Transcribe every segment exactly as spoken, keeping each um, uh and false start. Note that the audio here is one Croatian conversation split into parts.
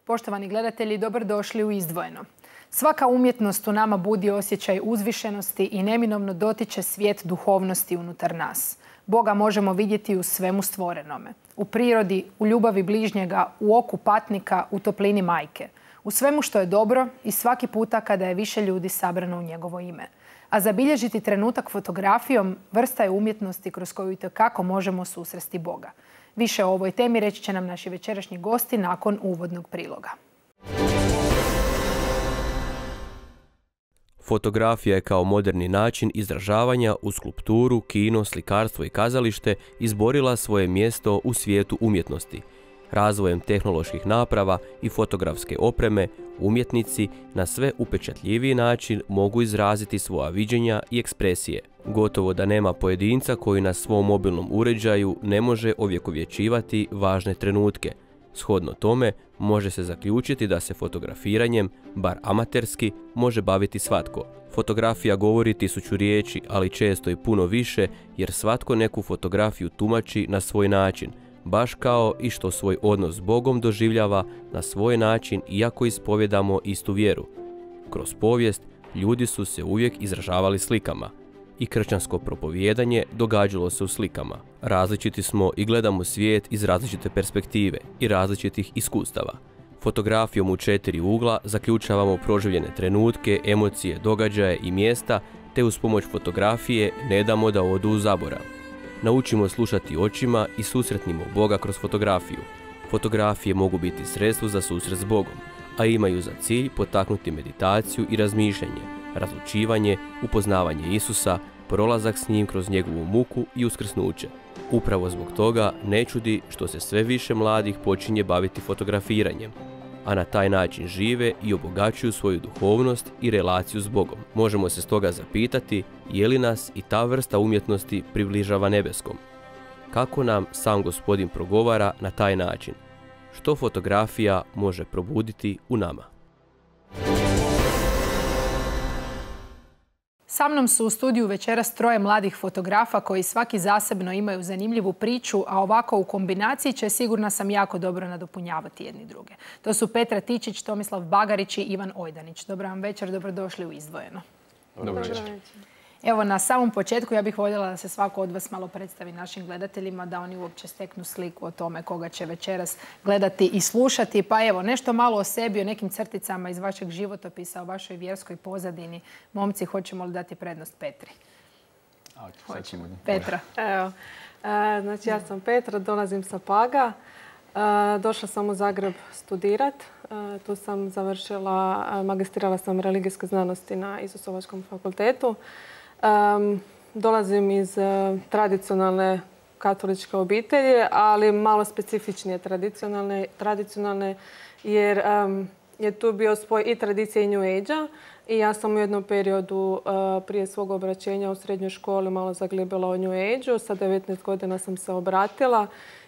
Poštovani gledatelji, dobrodošli u Izdvojeno. Svaka umjetnost u nama budi osjećaj uzvišenosti i neminovno dotiče svijet duhovnosti unutar nas. Boga možemo vidjeti u svemu stvorenome. U prirodi, u ljubavi bližnjega, u oku patnika, u toplini majke. U svemu što je dobro i svaki puta kada je više ljudi sabrano u njegovo ime. A zabilježiti trenutak fotografijom vrsta je umjetnosti kroz koju itekako možemo susresti Boga. Više o ovoj temi reći će nam naši večerašnji gosti nakon uvodnog priloga. Fotografija je kao moderni način izražavanja u skulpturu, kino, slikarstvo i kazalište izborila svoje mjesto u svijetu umjetnosti. Razvojem tehnoloških naprava i fotografske opreme, umjetnici na sve upečatljiviji način mogu izraziti svoja viđenja i ekspresije. Gotovo da nema pojedinca koji na svom mobilnom uređaju ne može ovjekovječivati važne trenutke. Shodno tome, može se zaključiti da se fotografiranjem, bar amaterski, može baviti svatko. Fotografija govori tisuću riječi, ali često i puno više, jer svatko neku fotografiju tumači na svoj način, baš kao i što svoj odnos s Bogom doživljava na svoj način iako ispovjedamo istu vjeru. Kroz povijest ljudi su se uvijek izražavali slikama. I kršćansko propovijedanje događalo se u slikama. Različiti smo i gledamo svijet iz različite perspektive i različitih iskustava. Fotografijom u četiri ugla zaključavamo proživljene trenutke, emocije, događaje i mjesta, te uz pomoć fotografije ne damo da odu u zaborav. Naučimo slušati očima i susretnimo Boga kroz fotografiju. Fotografije mogu biti sredstvo za susret s Bogom, a imaju za cilj potaknuti meditaciju i razmišljanje, razlučivanje, upoznavanje Isusa, prolazak s njim kroz njegovu muku i uskrsnuće. Upravo zbog toga ne čudi što se sve više mladih počinje baviti fotografiranjem, a na taj način žive i obogaćuju svoju duhovnost i relaciju s Bogom. Možemo se stoga zapitati je li nas i ta vrsta umjetnosti približava nebeskom. Kako nam sam Gospodin progovara na taj način? Što fotografija može probuditi u nama? Sa mnom su u studiju večeras troje mladih fotografa koji svaki zasebno imaju zanimljivu priču, a ovako u kombinaciji će, sigurna sam, jako dobro nadopunjavati jedni druge. To su Petra Tičić, Tomislav Bagarić i Ivan Ojdanić. Dobro vam večer, dobrodošli u Izdvojeno. Dobro večer. Evo, na samom početku ja bih voljela da se svako od vas malo predstavi našim gledateljima, da oni uopće steknu sliku o tome koga će večeras gledati i slušati. Pa evo, nešto malo o sebi, o nekim crticama iz vašeg životopisa, o vašoj vjerskoj pozadini. Momci, hoćemo li dati prednost Petri? Hoćemo. Petra. Evo, e, znači ja sam Petra, dolazim sa Paga. E, došla sam u Zagreb studirat. E, tu sam završila, magistrirala sam religijske znanosti na Isusovačkom fakultetu. Um, dolazim iz uh, tradicionalne katoličke obitelji, ali malo specifičnije tradicionalne, tradicionalne jer um, je tu bio spoj i tradicije i New Age-a i ja sam u jednom periodu uh, prije svog obraćenja u srednjoj školi malo zaglibila o New Age-u. Sa devetnaest godina sam se obratila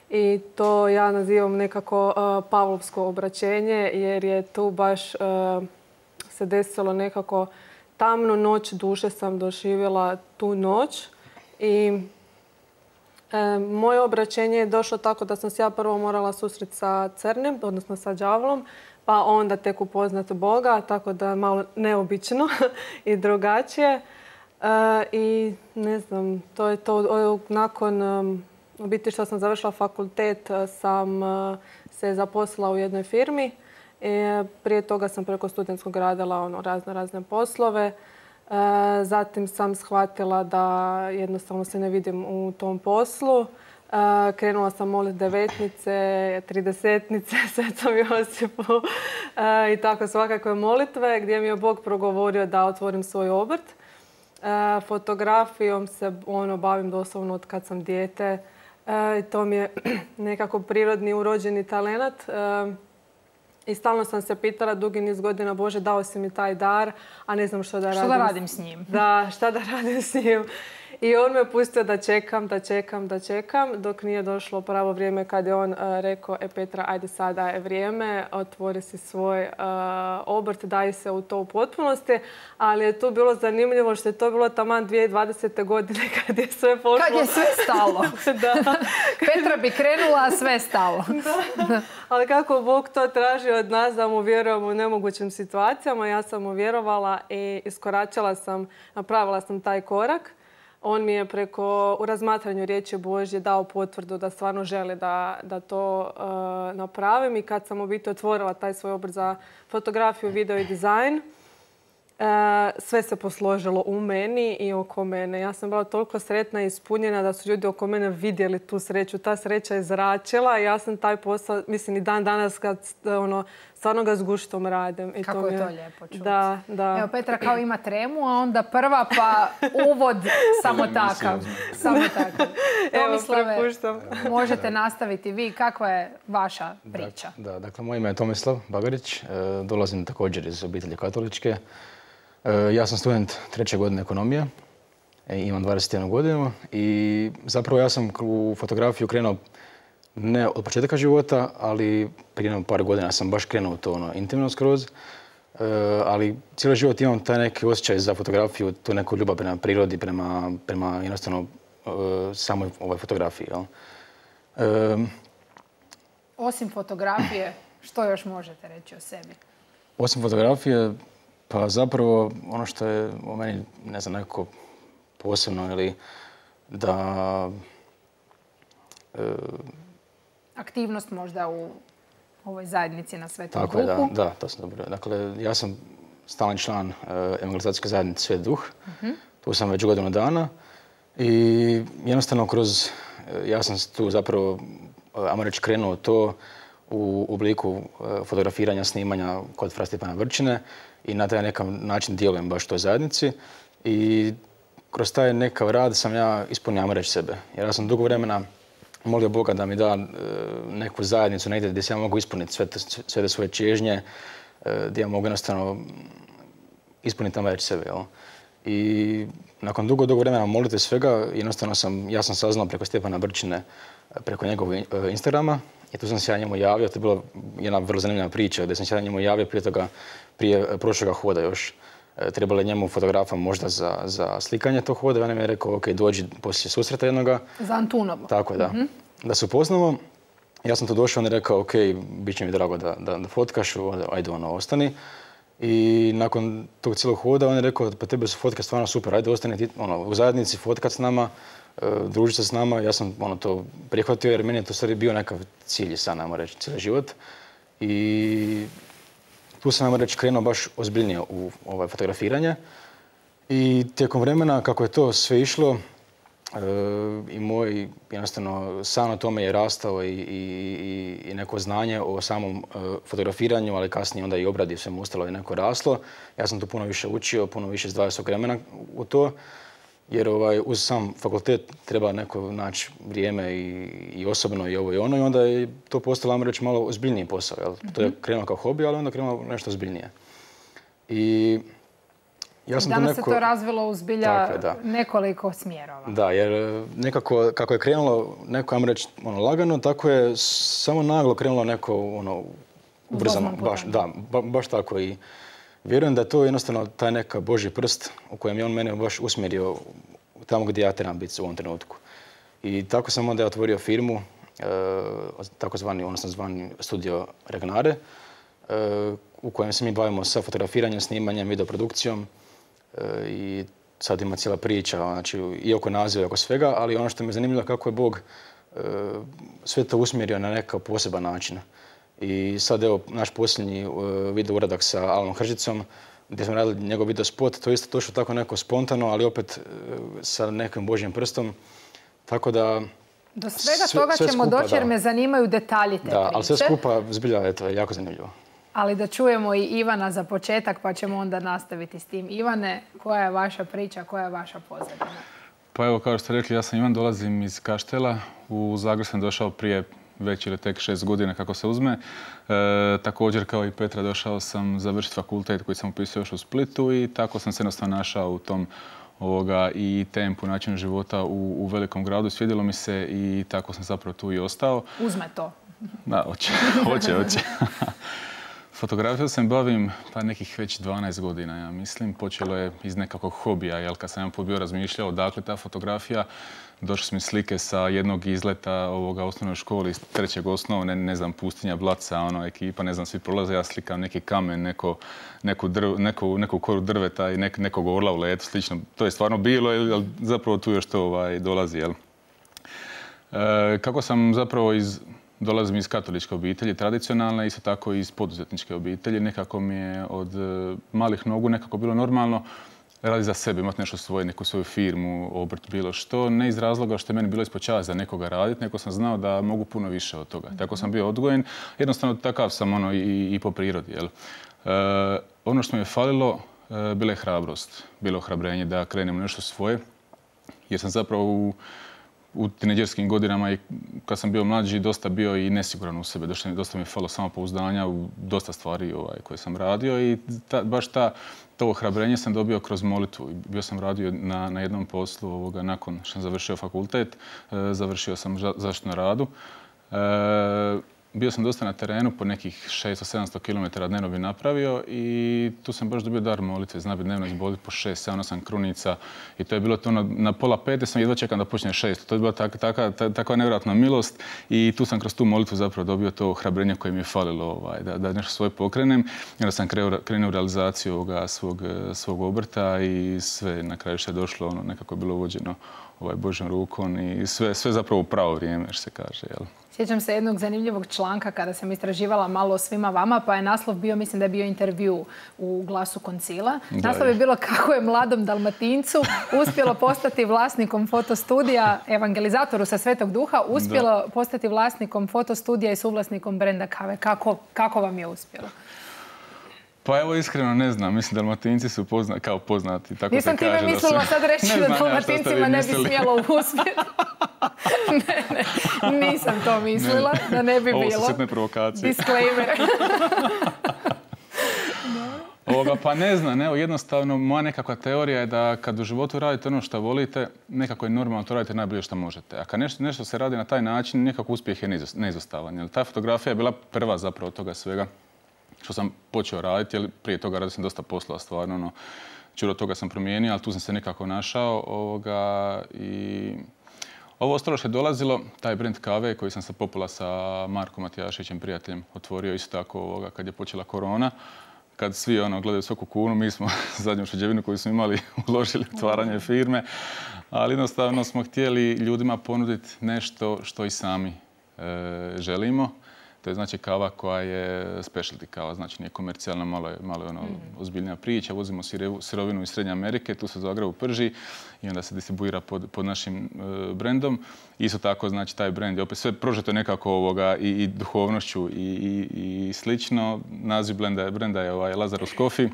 i to ja nazivam nekako uh, pavlovsko obraćenje jer je tu baš uh, se desilo nekako tamnu noć duše sam doživjela tu noć i e, moje obraćenje je došlo tako da sam se ja prvo morala susreti sa crnim, odnosno sa đavlom, pa onda tek upoznati Boga, tako da je malo neobično i drugačije. E, I ne znam, to je to. Nakon um, u biti što sam završila fakultet sam uh, se zaposlila u jednoj firmi. E, prije toga sam preko studentskog radila ono, razne, razne poslove. E, zatim sam shvatila da jednostavno se ne vidim u tom poslu. E, krenula sam moliti devetnice, tridesetnice, Svetom Josipu e, i tako svakakve molitve gdje mi je Bog progovorio da otvorim svoj obrt. E, fotografijom se ono, bavim doslovno od kad sam dijete. E, to mi je nekako prirodni, urođeni talent. E, I stalno sam se pitala dugi niz godina, Bože, dao si mi taj dar, a ne znam što da radim. Što da radim s njim? Da, šta da radim s njim. I on me pustio da čekam, da čekam, da čekam, dok nije došlo pravo vrijeme kad je on uh, rekao, e Petra, ajde sada je vrijeme, otvori si svoj uh, obrt, daj se u to u potpunosti. Ali je tu bilo zanimljivo što je to bilo taman dvije tisuće dvadesete. godine kad je sve pošlo. Kad je sve stalo. Da. Petra bi krenula, a sve stalo. Da. Ali kako Bog to traži od nas da mu vjerujemo u nemogućim situacijama, ja sam mu vjerovala i iskoračila sam, napravila sam taj korak. On mi je preko, u razmatranju riječi Božje dao potvrdu da stvarno želi da, da to uh, napravim. I kad sam u biti otvorila taj svoj obrt za fotografiju, video i dizajn, uh, sve se posložilo u meni i oko mene. Ja sam bila toliko sretna i ispunjena da su ljudi oko mene vidjeli tu sreću. Ta sreća je zračila i ja sam taj posao, mislim i dan danas kad ono, stvarno ga s guštom radim. I Kako to je to je lijepo čuti. Da, da. Evo, Petra kao ima tremu, a onda prva pa uvod samo takav. Samo takav. Evo, Tomislave, prepuštam. možete nastaviti vi. Kakva je vaša priča? Da, da, dakle, moje ime je Tomislav Bagarić. E, dolazim također iz obitelji katoličke. E, ja sam student treće godine ekonomije. E, imam dvadeset jednu godinu i zapravo ja sam u fotografiju krenuo ne od početka života, ali prije par godina sam baš krenuo u to ono, intimno skroz. E, ali cijeli život imam taj neki osjećaj za fotografiju, tu neku ljubav prema prirodi, prema, prema jednostavno e, samoj ovoj fotografiji. Jel? E, Osim fotografije, što još možete reći o sebi? Osim fotografije, pa zapravo ono što je u meni, ne znam, nekako posebno ili da... E, Aktivnost možda u ovoj zajednici na Svetom Tako Duhu. je, da, da, to sam dobro. Dakle, ja sam stalan član uh, evangelizacijske zajednice Sveti Duh. Uh-huh. Tu sam već godinu dana i jednostavno kroz, ja sam tu zapravo, ajmo reći, krenuo to u obliku uh, fotografiranja, snimanja kod fra Stjepana Vrčine i na taj nekakav način djelujem baš toj zajednici. I kroz taj nekav rad sam ja ispunio, ajmo reći, sebe. Jer ja sam dugo vremena molio Boga da mi da e, neku zajednicu negdje gdje se ja mogu ispuniti sve te, sve te svoje čežnje, e, gdje ja mogu jednostavno ispuniti tamo reći sebe. Jel? I nakon dugo, dugo vremena molite svega, jednostavno sam, ja sam saznao preko Stjepana Brčine, preko njegovog e, Instagrama i tu sam se ja njemu javio. To je bila jedna vrlo zanimljiva priča gdje sam se ja njemu javio prije toga, prije prošloga hoda još. Trebalo je njemu fotografa možda za, za slikanje tog hoda i on mi je rekao, ok, dođi poslije susreta jednoga. Za Antunovo. Tako je, da. Mm-hmm. Da se upoznamo. Ja sam tu došao, on je rekao, ok, bit će mi drago da, da, da fotkaš, ajde ono, ostani. I nakon tog cijelog hoda on je rekao, pa tebe su fotke stvarno super, ajde ostani ti, ono, u zajednici, fotkat s nama, uh, družiti se s nama. Ja sam ono, to prihvatio jer meni je to stvari bio nekakav cilj, sad najmo reći, cijeli život. I tu sam, ajmo reći, krenuo baš ozbiljnije u ovaj, fotografiranje. I tijekom vremena, kako je to sve išlo, e, i moj, jednostavno, san o tome je rastao i, i, i neko znanje o samom e, fotografiranju, ali kasnije onda i obradi svemu ostalo je neko raslo. Ja sam tu puno više učio, puno više izdvajao svog vremena u to, jer ovaj, uz sam fakultet treba neko naći vrijeme i, i osobno i ovo i ono i onda je to postalo, ajmo reći, malo ozbiljniji posao. Jel? Mm-hmm. To je krenuo kao hobi, ali onda krenuo nešto ozbiljnije. I ja sam danas neko... se to razvilo u zbilja je, nekoliko smjerova. Da, jer nekako kako je krenulo neko, ajmo reći, ono, lagano, tako je samo naglo krenulo neko ono, ubrzano. Baš, da, ba, baš tako i vjerujem da je to jednostavno taj neka Božji prst u kojem je on mene baš usmjerio tamo gdje ja trebam biti u ovom trenutku. I tako sam onda otvorio firmu, e, takozvani, odnosno zvani Studio Regnare, e, u kojem se mi bavimo sa fotografiranjem, snimanjem, videoprodukcijom e, i sad ima cijela priča, znači i oko naziva i oko svega, ali ono što me zanimljivo kako je Bog e, sve to usmjerio na nekakav poseban način. I sad evo naš posljednji uh, video uradak sa Alanom Hržicom gdje smo radili njegov video spot, to je isto točno tako neko spontano, ali opet uh, sa nekim Božjim prstom. Tako da... Do svega sve, toga sve ćemo skupa, doći jer da. Me zanimaju detalji te da, priče. Ali sve skupa zbilja je to jako zanimljivo. Ali da čujemo i Ivana za početak pa ćemo onda nastaviti s tim. Ivane, koja je vaša priča, koja je vaša pozadina? Pa evo, kao što ste rekli, ja sam Ivan, dolazim iz Kaštela. U Zagreb sam došao prije već ili tek šest godina kako se uzme. E, također kao i Petra došao sam završiti fakultet koji sam upisao još u Splitu i tako sam se jednostavno našao u tom ovoga, i tempu, načinu života u, u velikom gradu. Svidjelo mi se i tako sam zapravo tu i ostao. Uzme to. Da, hoće, hoće, hoće. Fotografiju se bavim pa nekih već dvanaest godina, ja mislim. Počelo je iz nekakvog hobija, jel, kad sam jedan put bio razmišljao odakle ta fotografija, došle su mi slike sa jednog izleta ovoga osnovnoj školi iz trećeg osnovne, ne znam, pustinja, Blaca, ono, ekipa, ne znam, svi prolaze, ja slikam neki kamen, neko, neku, drv, neku, neku koru drveta i nek, nekog orla u letu, slično. To je stvarno bilo, ali zapravo tu još to ovaj, dolazi, jel. E, kako sam zapravo iz... Dolazim iz katoličke obitelji, tradicionalne, isto tako i iz poduzetničke obitelji. Nekako mi je od malih nogu nekako bilo normalno raditi za sebe, imati nešto svoje, neku svoju firmu, obrt, bilo što. Ne iz razloga što je meni bilo ispod čast za nekoga raditi, nego sam znao da mogu puno više od toga. Tako sam bio odgojen. Jednostavno takav sam ono, i, i po prirodi. Jel? E, ono što mi je falilo, e, bila je hrabrost. Bilo ohrabrenje da krenem nešto svoje. Jer sam zapravo u u tineđerskim godinama i kad sam bio mlađi dosta bio i nesiguran u sebe. Dosta, dosta mi je falo samopouzdanja u dosta stvari ovaj, koje sam radio i ta, baš ta, to ohrabrenje sam dobio kroz molitvu. Bio sam radio na, na jednom poslu ovoga, nakon što sam završio fakultet. E, završio sam zaštitu na radu. E, Bio sam dosta na terenu, po nekih šesto sedamsto kilometara dnevno bi napravio i tu sam baš dobio dar molitve. Zna bi dnevno izboliti po šest sedam osam krunica i to je bilo to na, na pola pete, sam jedva čekam da počne šest. To je bila tak, taka, takva nevjerojatna milost i tu sam kroz tu molitvu zapravo dobio to ohrabrenje koje mi je falilo ovaj, da, da nešto svoje pokrenem. I onda sam krenuo, krenuo u realizaciju ovoga svog, svog obrta i sve na kraju što je došlo, ono, nekako je bilo vođeno ovaj, Božjom rukom i sve, sve zapravo u pravo vrijeme, što se kaže. Jel? Sjećam se jednog zanimljivog članka kada sam istraživala malo o svima vama, pa je naslov bio, mislim da je bio intervju u Glasu Koncila. Da, naslov je bilo kako je mladom Dalmatincu uspjelo postati vlasnikom fotostudija, evangelizatoru sa Svetog Duha, uspjelo da. postati vlasnikom fotostudija i suvlasnikom brenda kave. Kako, kako vam je uspjelo? Pa evo iskreno ne znam, mislim Dalmatinci su pozna, kao poznati, tako Nisam se kaže. Nisam time mislila da su... sad reći da Dalmatincima ne bi smjelo uspjeti. ne, ne, nisam to mislila, ne, da ne bi ovo bilo. Ovo su sitne provokacije. Disclaimer. Ovoga, pa ne znam, evo jednostavno moja nekakva teorija je da kad u životu radite ono što volite, nekako je normalno to radite najbolje što možete. A kad nešto, nešto se radi na taj način, nekako uspjeh je neizostavan. Jer ta fotografija je bila prva zapravo od toga svega što sam počeo raditi, jer prije toga radio sam dosta poslova stvarno, ono, čuro toga sam promijenio, ali tu sam se nekako našao ovoga, i ovo ostalo što je dolazilo, taj brend kave koji sam sa Popula sa Markom Matijašićem, prijateljem, otvorio isto tako ovoga, kad je počela korona. Kad svi ono, gledaju svaku kunu, mi smo zadnju šeđevinu koju smo imali uložili u otvaranje firme, ali jednostavno smo htjeli ljudima ponuditi nešto što i sami e, želimo. To je znači kava koja je specialty kava, znači nije komercijalna, malo je, malo je ono, ozbiljnija priča. Vozimo sirovinu iz Srednje Amerike, tu se u Zagrebu prži i onda se distribuira pod, pod našim e, brendom. Isto tako, znači, taj brend je opet sve prožeto nekako ovoga i, i duhovnošću i, i, i slično. Naziv brenda, brenda je ovaj Lazarus Coffee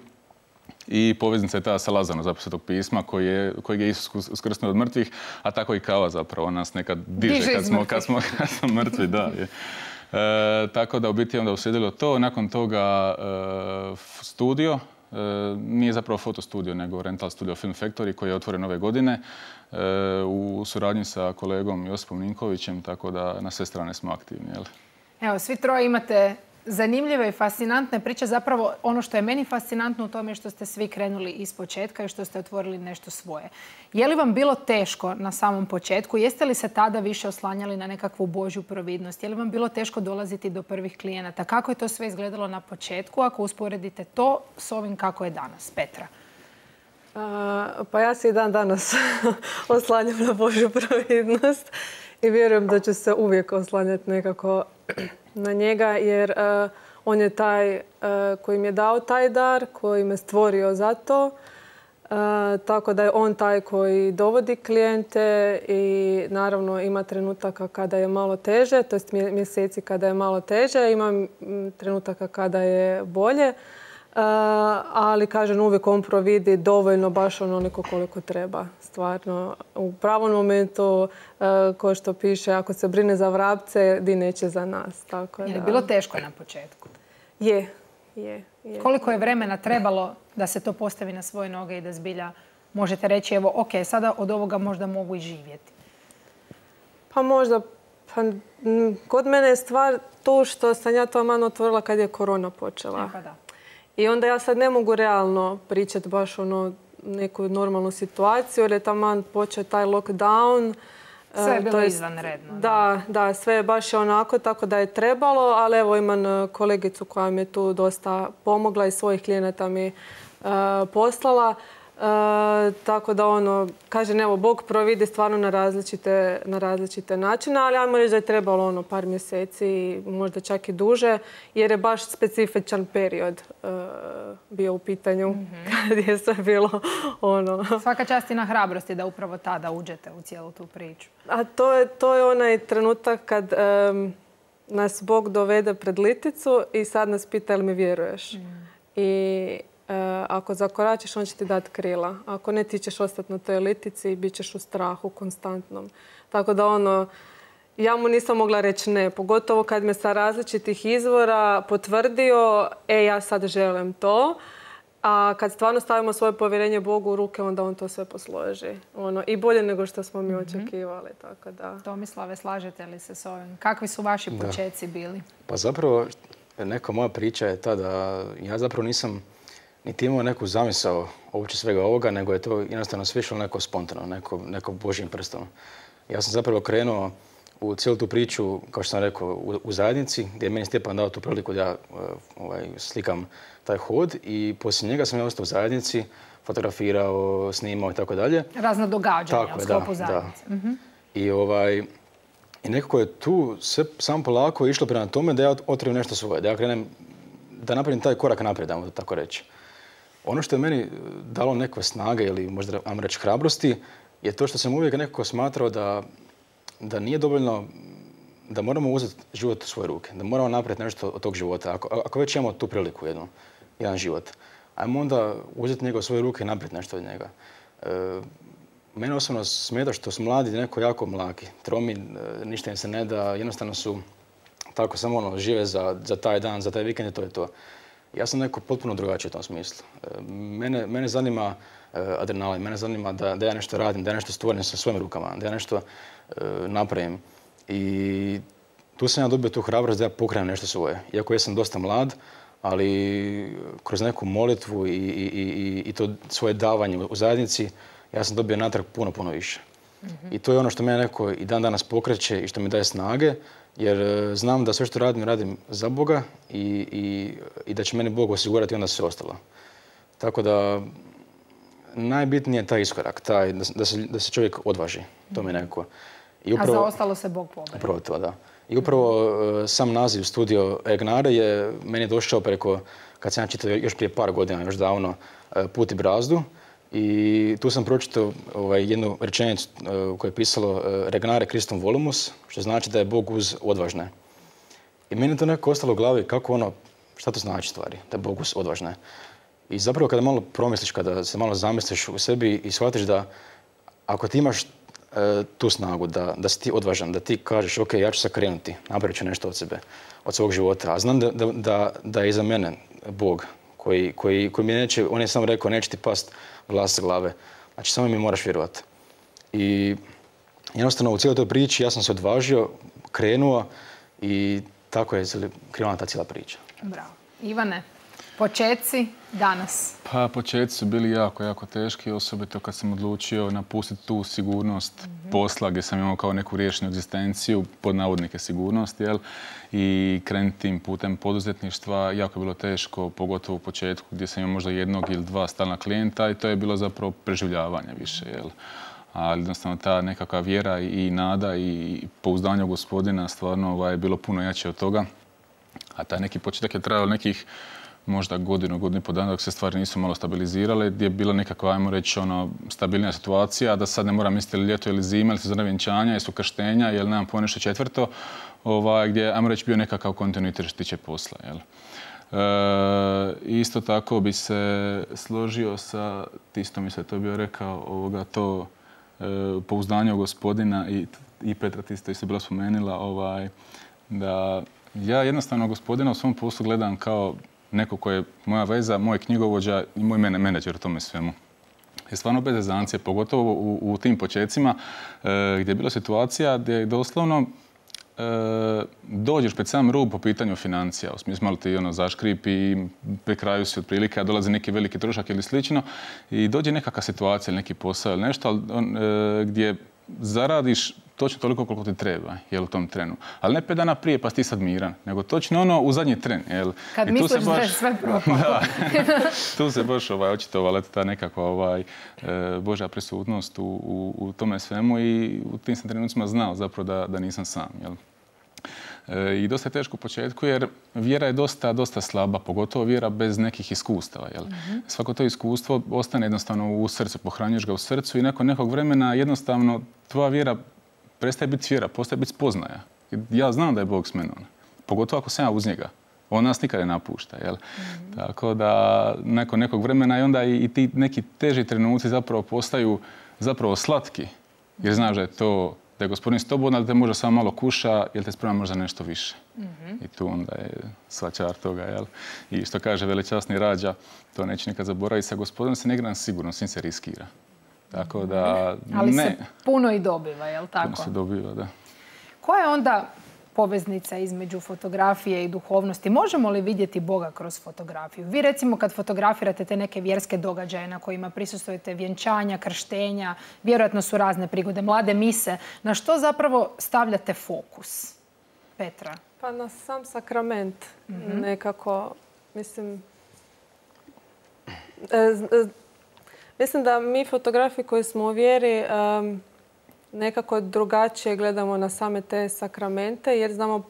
i poveznica je ta sa Lazarom zapravo Svetog pisma koji je, kojeg je Isus uskrsnuo od mrtvih, a tako i kava zapravo nas nekad diže, diže kad, smo, kad, smo, kad smo mrtvi. Da, je. E, tako da u biti onda uslijedilo to. Nakon toga e, studio, e, nije zapravo fotostudio nego Rental Studio Film Factory koji je otvoren ove godine e, u suradnji sa kolegom Josipom Ninkovićem, tako da na sve strane smo aktivni. Jel? Evo, svi troje imate zanimljive i fascinantne priče. Zapravo ono što je meni fascinantno u tome je što ste svi krenuli iz početka i što ste otvorili nešto svoje. Je li vam bilo teško na samom početku? Jeste li se tada više oslanjali na nekakvu Božju providnost? Je li vam bilo teško dolaziti do prvih klijenata? Kako je to sve izgledalo na početku ako usporedite to s ovim kako je danas? Petra. A, pa ja se i dan danas oslanjam na Božju providnost i vjerujem da ću se uvijek oslanjati nekako na njega, jer uh, on je taj uh, koji mi je dao taj dar, koji me stvorio za to. Uh, tako da je on taj koji dovodi klijente i naravno ima trenutaka kada je malo teže, to jest mjeseci kada je malo teže, ima trenutaka kada je bolje. Uh, ali, kažem, uvijek on providi dovoljno, baš onoliko koliko treba. Stvarno, u pravom momentu, uh, ko što piše, ako se brine za vrapce, di neće za nas. Tako, je li bilo teško na početku? Je, je, je. Koliko je vremena trebalo da se to postavi na svoje noge i da zbilja možete reći, evo, ok, sada od ovoga možda mogu i živjeti? Pa možda, pa, m, kod mene je stvar to što sam ja to man otvorila kad je korona počela. Pa da. I onda ja sad ne mogu realno pričati baš ono neku normalnu situaciju, jer je taman počeo taj lockdown. Sve je e, bilo to jest- izvanredno. Da, da, sve je baš onako, tako da je trebalo, ali evo imam e, kolegicu koja mi je tu dosta pomogla i svojih klijenata mi e, poslala. E, tako da ono, kažem, evo, Bog providi stvarno na različite, na različite načine, ali ajmo reći da je trebalo ono par mjeseci, možda čak i duže, jer je baš specifičan period e, bio u pitanju, kad je sve bilo ono... Svaka čast i na hrabrosti da upravo tada uđete u cijelu tu priču. A to je, to je onaj trenutak kad em, nas Bog dovede pred liticu i sad nas pita jel mi vjeruješ. I e, ako zakoračiš, on će ti dati krila. Ako ne, ti ćeš ostati na toj litici i bit ćeš u strahu konstantnom. Tako da ono, ja mu nisam mogla reći ne. Pogotovo kad me sa različitih izvora potvrdio, e, ja sad želim to. A kad stvarno stavimo svoje povjerenje Bogu u ruke, onda on to sve posloži. Ono, i bolje nego što smo mi očekivali. Tako da. Tomislave, slažete li se s ovim? Kakvi su vaši počeci bili? Pa zapravo, neka moja priča je ta da ja zapravo nisam niti imao neku zamisao uopće svega ovoga, nego je to jednostavno sve išlo neko spontano, neko, neko božjim prstom. Ja sam zapravo krenuo u cijelu tu priču, kao što sam rekao, u, u zajednici, gdje je meni Stjepan dao tu priliku da ja ovaj, slikam taj hod i poslije njega sam ja ostao u zajednici, fotografirao, snimao i tako dalje. Razna događanja Tako u je, sklopu da, zajednice. da. Mhm. I, ovaj, I nekako je tu sve samo polako išlo prema tome da ja otkrijem nešto svoje, da ja krenem, da napravim taj korak naprijed, ajmo tako reći. Ono što je meni dalo neke snage ili možda, ajmo reći, hrabrosti, je to što sam uvijek nekako smatrao da, da nije dovoljno, da moramo uzeti život u svoje ruke, da moramo napraviti nešto od tog života. Ako, ako već imamo tu priliku jednu, jedan život, ajmo onda uzeti njega u svoje ruke i napraviti nešto od njega. E, mene osobno smeta što su mladi neko jako mlaki, tromi, e, ništa im se ne da, jednostavno su tako samo ono, žive za, za taj dan, za taj vikend i to je to. Ja sam neko potpuno drugačiji u tom smislu. E, mene, mene zanima e, adrenalin, mene zanima da, da ja nešto radim, da ja nešto stvorim sa svojim rukama, da ja nešto e, napravim. I tu sam ja dobio tu hrabrost da ja pokrenem nešto svoje. Iako ja sam dosta mlad, ali kroz neku molitvu i, i, i, i to svoje davanje u zajednici, ja sam dobio natrag puno, puno više. Mm-hmm. I to je ono što mene neko i dan danas pokreće i što mi daje snage, jer znam da sve što radim, radim za Boga i, i, i da će meni Bog osigurati onda sve ostalo. Tako da najbitnije je taj iskorak, taj, da, da, se, da se čovjek odvaži. To mi je nekako. I upravo, a za ostalo se Bog pobrine. Upravo to, da. I upravo uh, sam naziv Studio Egnare je meni došao preko, kad sam ja čitao još prije par godina, još davno, uh, Put i brazdu. I tu sam pročitao ovaj, jednu rečenicu uh, u kojoj je pisalo uh, Regnare Christum volumus, što znači da je Bog uz odvažne. I meni je to nekako ostalo u glavi kako ono, šta to znači stvari, da je Bog uz odvažne. I zapravo kada malo promisliš, kada se malo zamisliš u sebi i shvatiš da ako ti imaš tu snagu, da, da si ti odvažan, da ti kažeš ok, ja ću sad krenuti, napravit ću nešto od sebe, od svog života, a znam da, da, da, da je iza mene Bog koji, koji, koji mi neće, on je samo rekao neće ti past vlas sa glave, znači samo mi moraš vjerovati. I jednostavno u cijeloj toj priči ja sam se odvažio, krenuo i tako je krenula ta cijela priča. Bravo. Ivane, počeci danas? Pa počeci su bili jako, jako teški, osobito kad sam odlučio napustiti tu sigurnost mm-hmm. posla gdje sam imao kao neku riješenu egzistenciju, pod navodnike sigurnost, jel? I krenuti tim putem poduzetništva. Jako je bilo teško, pogotovo u početku gdje sam imao možda jednog ili dva stalna klijenta i to je bilo zapravo preživljavanje više, jel? Ali jednostavno ta nekakva vjera i nada i pouzdanje u Gospodina stvarno ovaj, je bilo puno jače od toga. A taj neki početak je trajao nekih možda godinu, godinu i po dana dok se stvari nisu malo stabilizirale, gdje je bila nekakva, ajmo reći, ono, stabilnija situacija, da sad ne moram misliti ili ljeto ili zima, ili sezona vjenčanja, ili su krštenja, ili nemam pojma nešto četvrto, ovaj, gdje je, ajmo reći, bio nekakav kontinuitet što tiče posla. Jel? E, isto tako bi se složio sa, isto mi se to bio rekao, ovoga, to e, pouzdanje u Gospodina i, i Petra ti isto bila spomenula, ovaj, da ja jednostavno Gospodina u svom poslu gledam kao neko ko je moja veza, moj knjigovođa i moj menadžer u tome svemu. je stvarno bez zezancije, pogotovo u, u tim počecima e, gdje je bila situacija gdje doslovno e, dođeš pred sam rub po pitanju financija. U smislu malo ti ono, zaškrip i pri kraju si otprilike, a dolazi neki veliki trošak ili slično i dođe nekakva situacija ili neki posao ili nešto ali, on, e, gdje zaradiš točno toliko koliko ti treba, jel, u tom trenu. Ali ne pet dana prije pa si ti sad miran, nego točno ono u zadnji tren, jel. Kad I misliš baš, da je sve propalo. Da, tu se baš ovaj, očitovala ta nekakva ovaj, e, Božja prisutnost u, u, u tome svemu i u tim sam trenucima znao zapravo da, da nisam sam, jel. I dosta je teško u početku jer vjera je dosta, dosta slaba, pogotovo vjera bez nekih iskustava. Jel? Mm-hmm. Svako to iskustvo ostane jednostavno u srcu, pohranjuješ ga u srcu i nakon nekog vremena jednostavno tvoja vjera prestaje biti vjera, postaje biti spoznaja. Ja znam da je Bog s menom, pogotovo ako sam ja uz njega. On nas nikada ne napušta. Jel? Mm-hmm. Tako da nakon nekog vremena i onda i, i ti neki teži trenuci zapravo postaju zapravo slatki jer znaš da je to da je Gospodin s tobom, ali te možda samo malo kuša, jer te sprema možda nešto više. Mm-hmm. I tu onda je sva čar toga, jel? I što kaže velečasni Rađa, to neće nikad zaboraviti, sa Gospodinom se ne igra sigurno, s njim se riskira. Tako da, ali ne. se puno i dobiva, jel tako? Puno se dobiva, da. Koja je onda poveznica između fotografije i duhovnosti? Možemo li vidjeti Boga kroz fotografiju? Vi recimo kad fotografirate te neke vjerske događaje na kojima prisustvujete vjenčanja, krštenja, vjerojatno su razne prigode, mlade mise, na što zapravo stavljate fokus? Petra? Pa na sam sakrament. Mm-hmm. Nekako, mislim... E, e, mislim da mi fotografi koji smo u vjeri um, nekako drugačije gledamo na same te sakramente jer znamo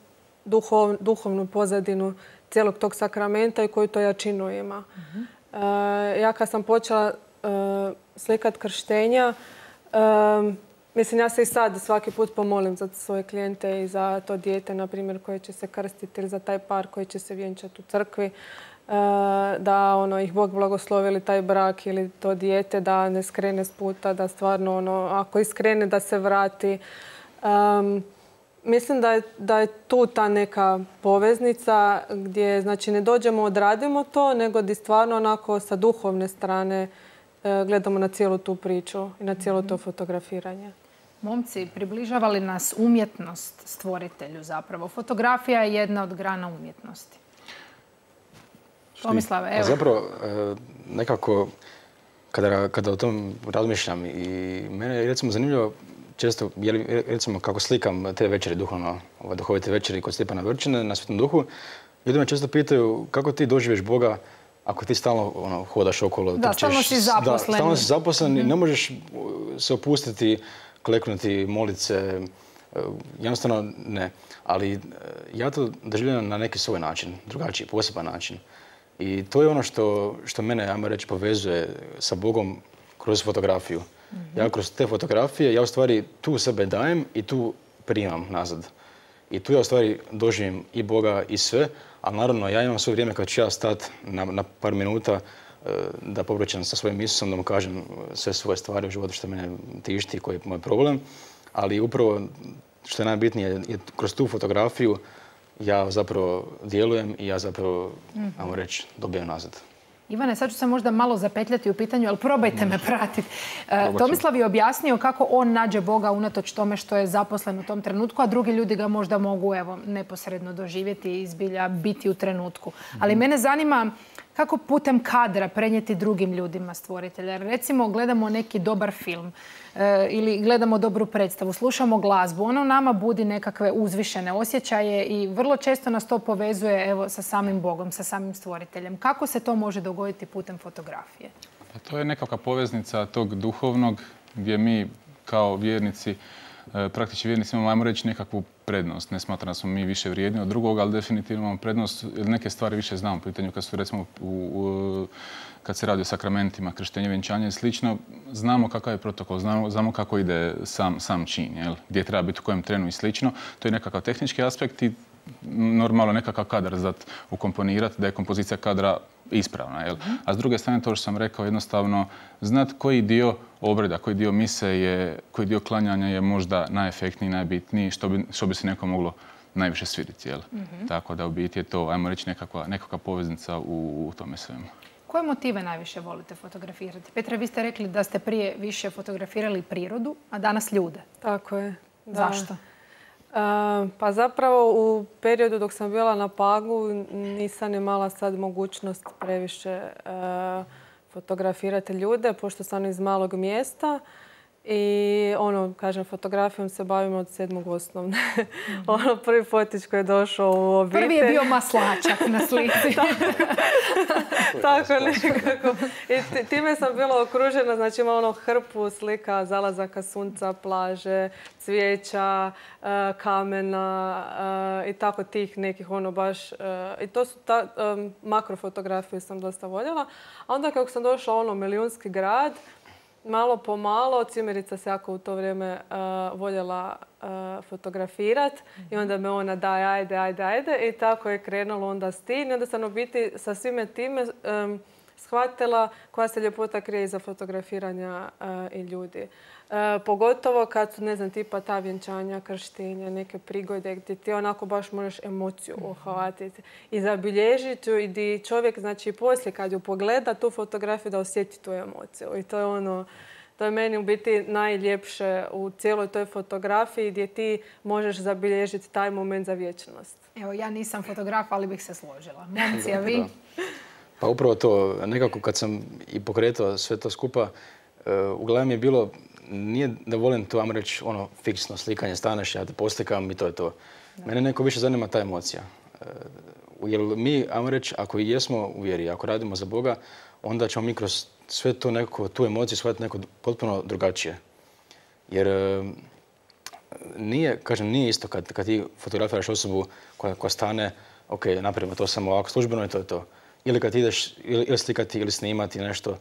duhov, duhovnu pozadinu cijelog tog sakramenta i koju to jačinu ima. Mm-hmm. E, ja kad sam počela e, slikat krštenja, e, mislim ja se i sad svaki put pomolim za svoje klijente i za to dijete, na primjer, koje će se krstiti ili za taj par koji će se vjenčati u crkvi. Da ono, ih Bog blagoslovi ili taj brak ili to dijete da ne skrene s puta, da stvarno ono, ako iskrene da se vrati. Um, mislim da je, da je tu ta neka poveznica gdje znači, ne dođemo, odradimo to, nego da stvarno onako sa duhovne strane uh, gledamo na cijelu tu priču i na cijelo to fotografiranje. Momci, približava li nas umjetnost stvoritelju zapravo? Fotografija je jedna od grana umjetnosti. Tomislave, evo. Zapravo, nekako, kada, kada o tom razmišljam i mene je recimo zanimljivo često, jer, recimo kako slikam te večeri duhovno, ove duhovite večeri kod Stjepana Vrčine na Svetom Duhu, ljudi me često pitaju kako ti doživiš Boga ako ti stalno ono, hodaš okolo, da, trčiš. Stalno si zaposlen. Da, stalno si zaposlen i mm-hmm. ne možeš se opustiti, kleknuti, moliti se, jednostavno ne. Ali ja to doživljam na neki svoj način, drugačiji, poseban način. I to je ono što, što mene, ajmo reći, povezuje sa Bogom kroz fotografiju. Mm-hmm. Ja kroz te fotografije, ja u stvari tu sebe dajem i tu primam nazad. I tu ja u stvari doživim i Boga i sve, ali naravno ja imam svoje vrijeme kad ću ja stati na, na par minuta da popričam sa svojim Isusom, da mu kažem sve svoje stvari u životu što mene tišti, koji je moj problem. Ali upravo što je najbitnije je kroz tu fotografiju ja zapravo djelujem i ja zapravo, mm-hmm. ajmo reći, dobijem nazad. Ivane, sad ću se možda malo zapetljati u pitanju, ali probajte me pratiti. E, Tomislav je objasnio kako on nađe Boga unatoč tome što je zaposlen u tom trenutku, a drugi ljudi ga možda mogu evo, neposredno doživjeti i zbilja biti u trenutku. Mm-hmm. Ali mene zanima kako putem kadra prenijeti drugim ljudima stvoritelja. Recimo, gledamo neki dobar film e, ili gledamo dobru predstavu, slušamo glazbu, ono nama budi nekakve uzvišene osjećaje i vrlo često nas to povezuje evo, sa samim Bogom, sa samim stvoriteljem. Kako se to može dogoditi putem fotografije? Pa to je nekakva poveznica tog duhovnog gdje mi kao vjernici praktički vjernici imamo, ajmo reći, nekakvu prednost. Ne smatram da smo mi više vrijedni od drugog, ali definitivno imamo prednost jer neke stvari više znamo u pitanju kad su recimo u, u, kad se radi o sakramentima, krštenje, vjenčanje i slično, znamo kakav je protokol, znamo, znamo kako ide sam, sam čin, jel? Gdje treba biti u kojem trenu i slično. To je nekakav tehnički aspekt i normalno nekakav kadar zat ukomponirati, da je kompozicija kadra ispravna. Jel? A s druge strane, to što sam rekao, jednostavno znat koji dio obreda, koji dio mise je, koji dio klanjanja je možda najefektniji, najbitniji, što bi, što bi se neko moglo najviše svidjeti. Jel? Mm-hmm. Tako da u biti je to, ajmo reći, nekakva, nekakva poveznica u, u tome svemu. Koje motive najviše volite fotografirati? Petra, vi ste rekli da ste prije više fotografirali prirodu, a danas ljude. Tako je. Da. Zašto? Uh, pa zapravo u periodu dok sam bila na Pagu nisam imala sad mogućnost previše uh, fotografirati ljude, pošto sam iz malog mjesta. I ono, kažem, fotografijom se bavimo od sedmog osnovne. Mm-hmm. Ono, prvi fotić koji je došao u obitelj. Prvi je bio maslačak na slici. Tako nekako. I time sam bila okružena, znači ima ono hrpu slika zalazaka sunca, plaže, cvijeća, kamena i tako tih nekih ono baš. I to su ta, makrofotografije sam dosta voljela. A onda kako sam došla ono milijunski grad, malo po malo, cimerica se jako u to vrijeme uh, voljela uh, fotografirat mm-hmm. i onda me ona daj, ajde, ajde, ajde i tako je krenulo onda s tim. I onda sam u biti sa svime time um, shvatila koja se ljepota krije iza fotografiranja uh, i ljudi. Uh, pogotovo kad su, ne znam, tipa ta vjenčanja, krštenja, neke prigode gdje ti onako baš možeš emociju uhvatiti i zabilježiti i gdje čovjek, znači, poslije kad ju pogleda tu fotografiju da osjeti tu emociju. I to je ono, to je meni u biti najljepše u cijeloj toj fotografiji gdje ti možeš zabilježiti taj moment za vječnost. Evo, ja nisam fotograf, ali bih se složila. Momci, a vi? Pa upravo to, nekako kad sam i pokretao sve to skupa, uh, u glavi mi je bilo, nije da volim to, ajmo reći, ono, fiksno slikanje, staneš, ja te poslikam i to je to. Da. Mene neko više zanima ta emocija. Uh, jer mi, ajmo reći, ako i jesmo u vjeri, ako radimo za Boga, onda ćemo mi kroz sve to nekako, tu emociju shvatiti neko potpuno drugačije. Jer uh, nije, kažem, nije isto kad, kad ti fotografiraš osobu koja, koja stane, ok, napravimo to samo ovako službeno i to je to. Ili kad ideš ili, ili slikati ili snimati nešto,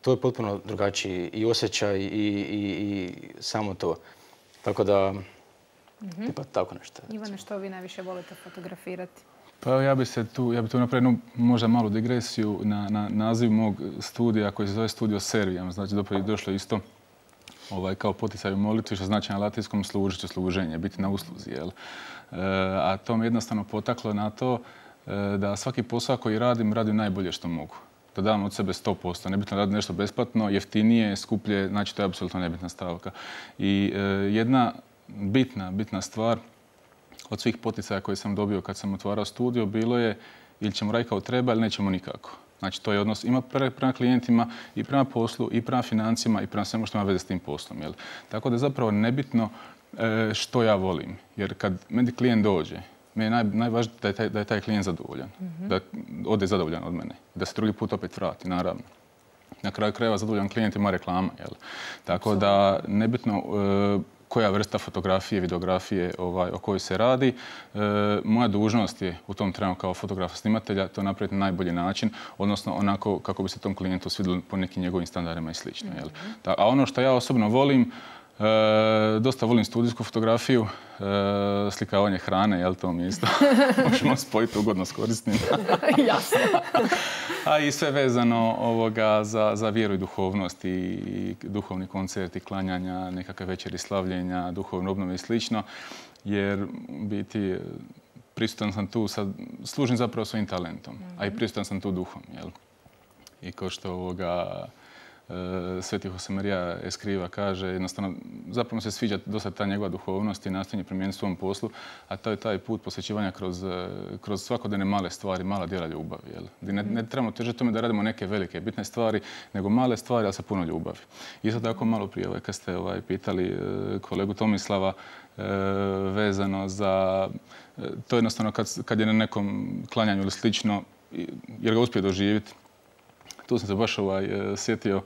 to je potpuno drugačiji i osjećaj i, i, i samo to. Tako da, mm-hmm. tipa tako nešto. Ivane, što vi najviše volite fotografirati? Pa ja bi se tu, ja bi tu napravio možda malu digresiju na, na naziv mog studija koji se zove Studio Serviam. Znači, je došlo isto ovaj, kao poticaj u molitvi, što znači na latinskom služiti, služenje, biti na usluzi. Jel? E, a to me jednostavno potaklo na to e, da svaki posao koji radim, radim najbolje što mogu. Da dam od sebe sto posto. Nebitno raditi nešto besplatno, jeftinije, skuplje, znači to je apsolutno nebitna stavka. I e, jedna bitna, bitna stvar od svih poticaja koje sam dobio kad sam otvarao studio bilo je ili ćemo raditi kao treba ili nećemo nikako. Znači to je odnos ima prema klijentima i prema poslu i prema financijama i prema svemu što ima veze s tim poslom. Jel? Tako da je zapravo nebitno e, što ja volim. Jer kad meni klijent dođe, meni je naj, najvažnije da je, taj, da je taj klijent zadovoljan. Mm-hmm. Da ode zadovoljan od mene. Da se drugi put opet vrati, naravno. Na kraju krajeva zadovoljan klijent ima reklama. Jel? Tako da nebitno e, koja vrsta fotografije, videografije ovaj, o kojoj se radi. E, moja dužnost je u tom trenu kao fotografa snimatelja to napraviti na najbolji način, odnosno onako kako bi se tom klijentu svidjelo po nekim njegovim standardima i slično. Jel? Da, a ono što ja osobno volim, E, dosta volim studijsku fotografiju, e, slikavanje hrane, jel to mi isto možemo spojiti ugodno s korisnim. Jasno. A i sve vezano ovoga za, za vjeru i duhovnost i, i duhovni koncerti, klanjanja, nekakve večeri slavljenja, duhovne obnove i slično, jer biti prisutan sam tu, sad, služim zapravo svojim talentom, mm-hmm. a i prisutan sam tu duhom, jel? I kao što ovoga Sveti Josemaria Escriva kaže, jednostavno, zapravo se sviđa dosta ta njegova duhovnost i nastojanje primijeniti svom poslu, a to je taj put posvećivanja kroz, kroz svakodnevne male stvari, mala djela ljubavi. Jel? Ne, ne trebamo težiti tome da radimo neke velike, bitne stvari, nego male stvari, ali sa puno ljubavi. Isto tako malo prije, ovaj, kad ste ovaj, pitali kolegu Tomislava vezano za... To je jednostavno kad, kad je na nekom klanjanju ili slično, jer ga uspije doživjeti. Tu sam se baš ovaj, sjetio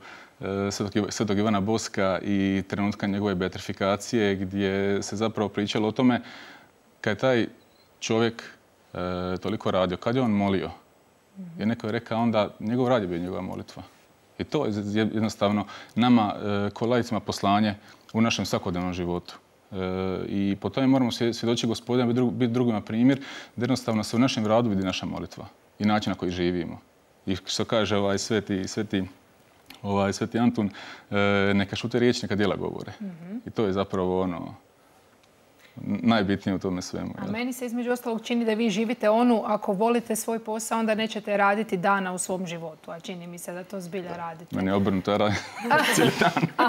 svetog, svetog Ivana Boska i trenutka njegove beatifikacije gdje se zapravo pričalo o tome kad je taj čovjek e, toliko radio, kad je on molio. Jer neko je rekao onda njegov rad je bio njegova molitva. I to je jednostavno nama e, ko laicima poslanje u našem svakodnevnom životu. E, I po tome moramo svjedočiti Gospodinu, biti drugima primjer, da jednostavno se u našem radu vidi naša molitva i način na koji živimo. I što kaže ovaj sveti, sveti, ovaj sveti Antun, e, neka šute riječ, neka djela govore. Mm-hmm. I to je zapravo ono... najbitnije u tome svemu. A meni se između ostalog čini da vi živite onu, ako volite svoj posao, onda nećete raditi dana u svom životu. A čini mi se da to zbilja radite. Meni je obrnuto, ja radim cijeli dan.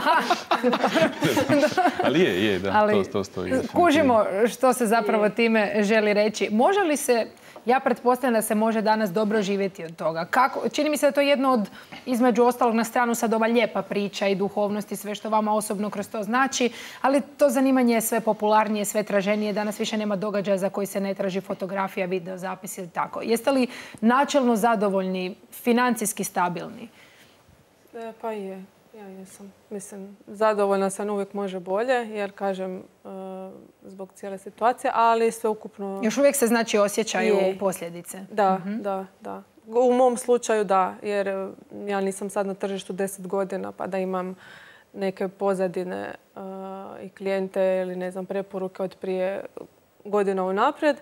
Ali je, je, da, Ali to, to stoji. Kužimo što se zapravo time želi reći. Može li se, ja pretpostavljam da se može danas dobro živjeti od toga. Kako, čini mi se da to je jedno od, između ostalog na stranu sad ova lijepa priča i duhovnost i sve što vama osobno kroz to znači, ali to zanimanje je sve popularnije, sve traženije. Danas više nema događaja za koji se ne traži fotografija, video, zapis ili tako. Jeste li načelno zadovoljni, financijski stabilni? E, pa je. Ja jesam. Mislim, zadovoljna sam, uvijek može bolje, jer kažem, uh, zbog cijele situacije, ali sve ukupno... Još uvijek se znači osjećaju je. posljedice. Da, mm-hmm. da, da. U mom slučaju da, jer ja nisam sad na tržištu deset godina, pa da imam neke pozadine uh, i klijente ili ne znam, preporuke od prije godina unaprijed.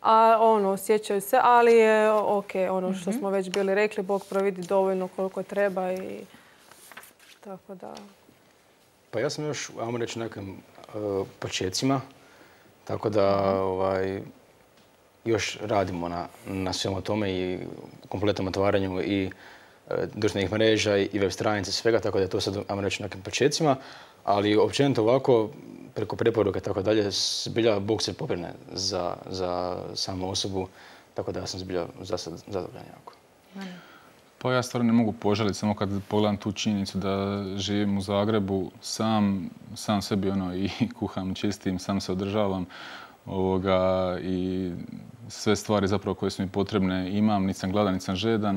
A ono, osjećaju se, ali je ok, ono što mm-hmm. smo već bili rekli, Bog providi dovoljno koliko treba i... Tako da... Pa ja sam još, ajmo reći, nekim uh, početcima, tako da ovaj, još radimo na, na svemu tome i kompletnom otvaranju i uh, društvenih mreža i web stranice, svega, tako da je to sad, ajmo reći, nekim početcima, ali općenito ovako, preko preporuke, tako dalje, zbilja Bog se pobrine za, za samu osobu, tako da ja sam zbilja za sad zadovoljan jako. Pa ja stvarno ne mogu požaliti, samo kad pogledam tu činjenicu da živim u Zagrebu, sam, sam sebi ono i kuham, čistim, sam se održavam ovoga, i sve stvari zapravo koje su mi potrebne imam, niti sam gladan, niti sam žedan,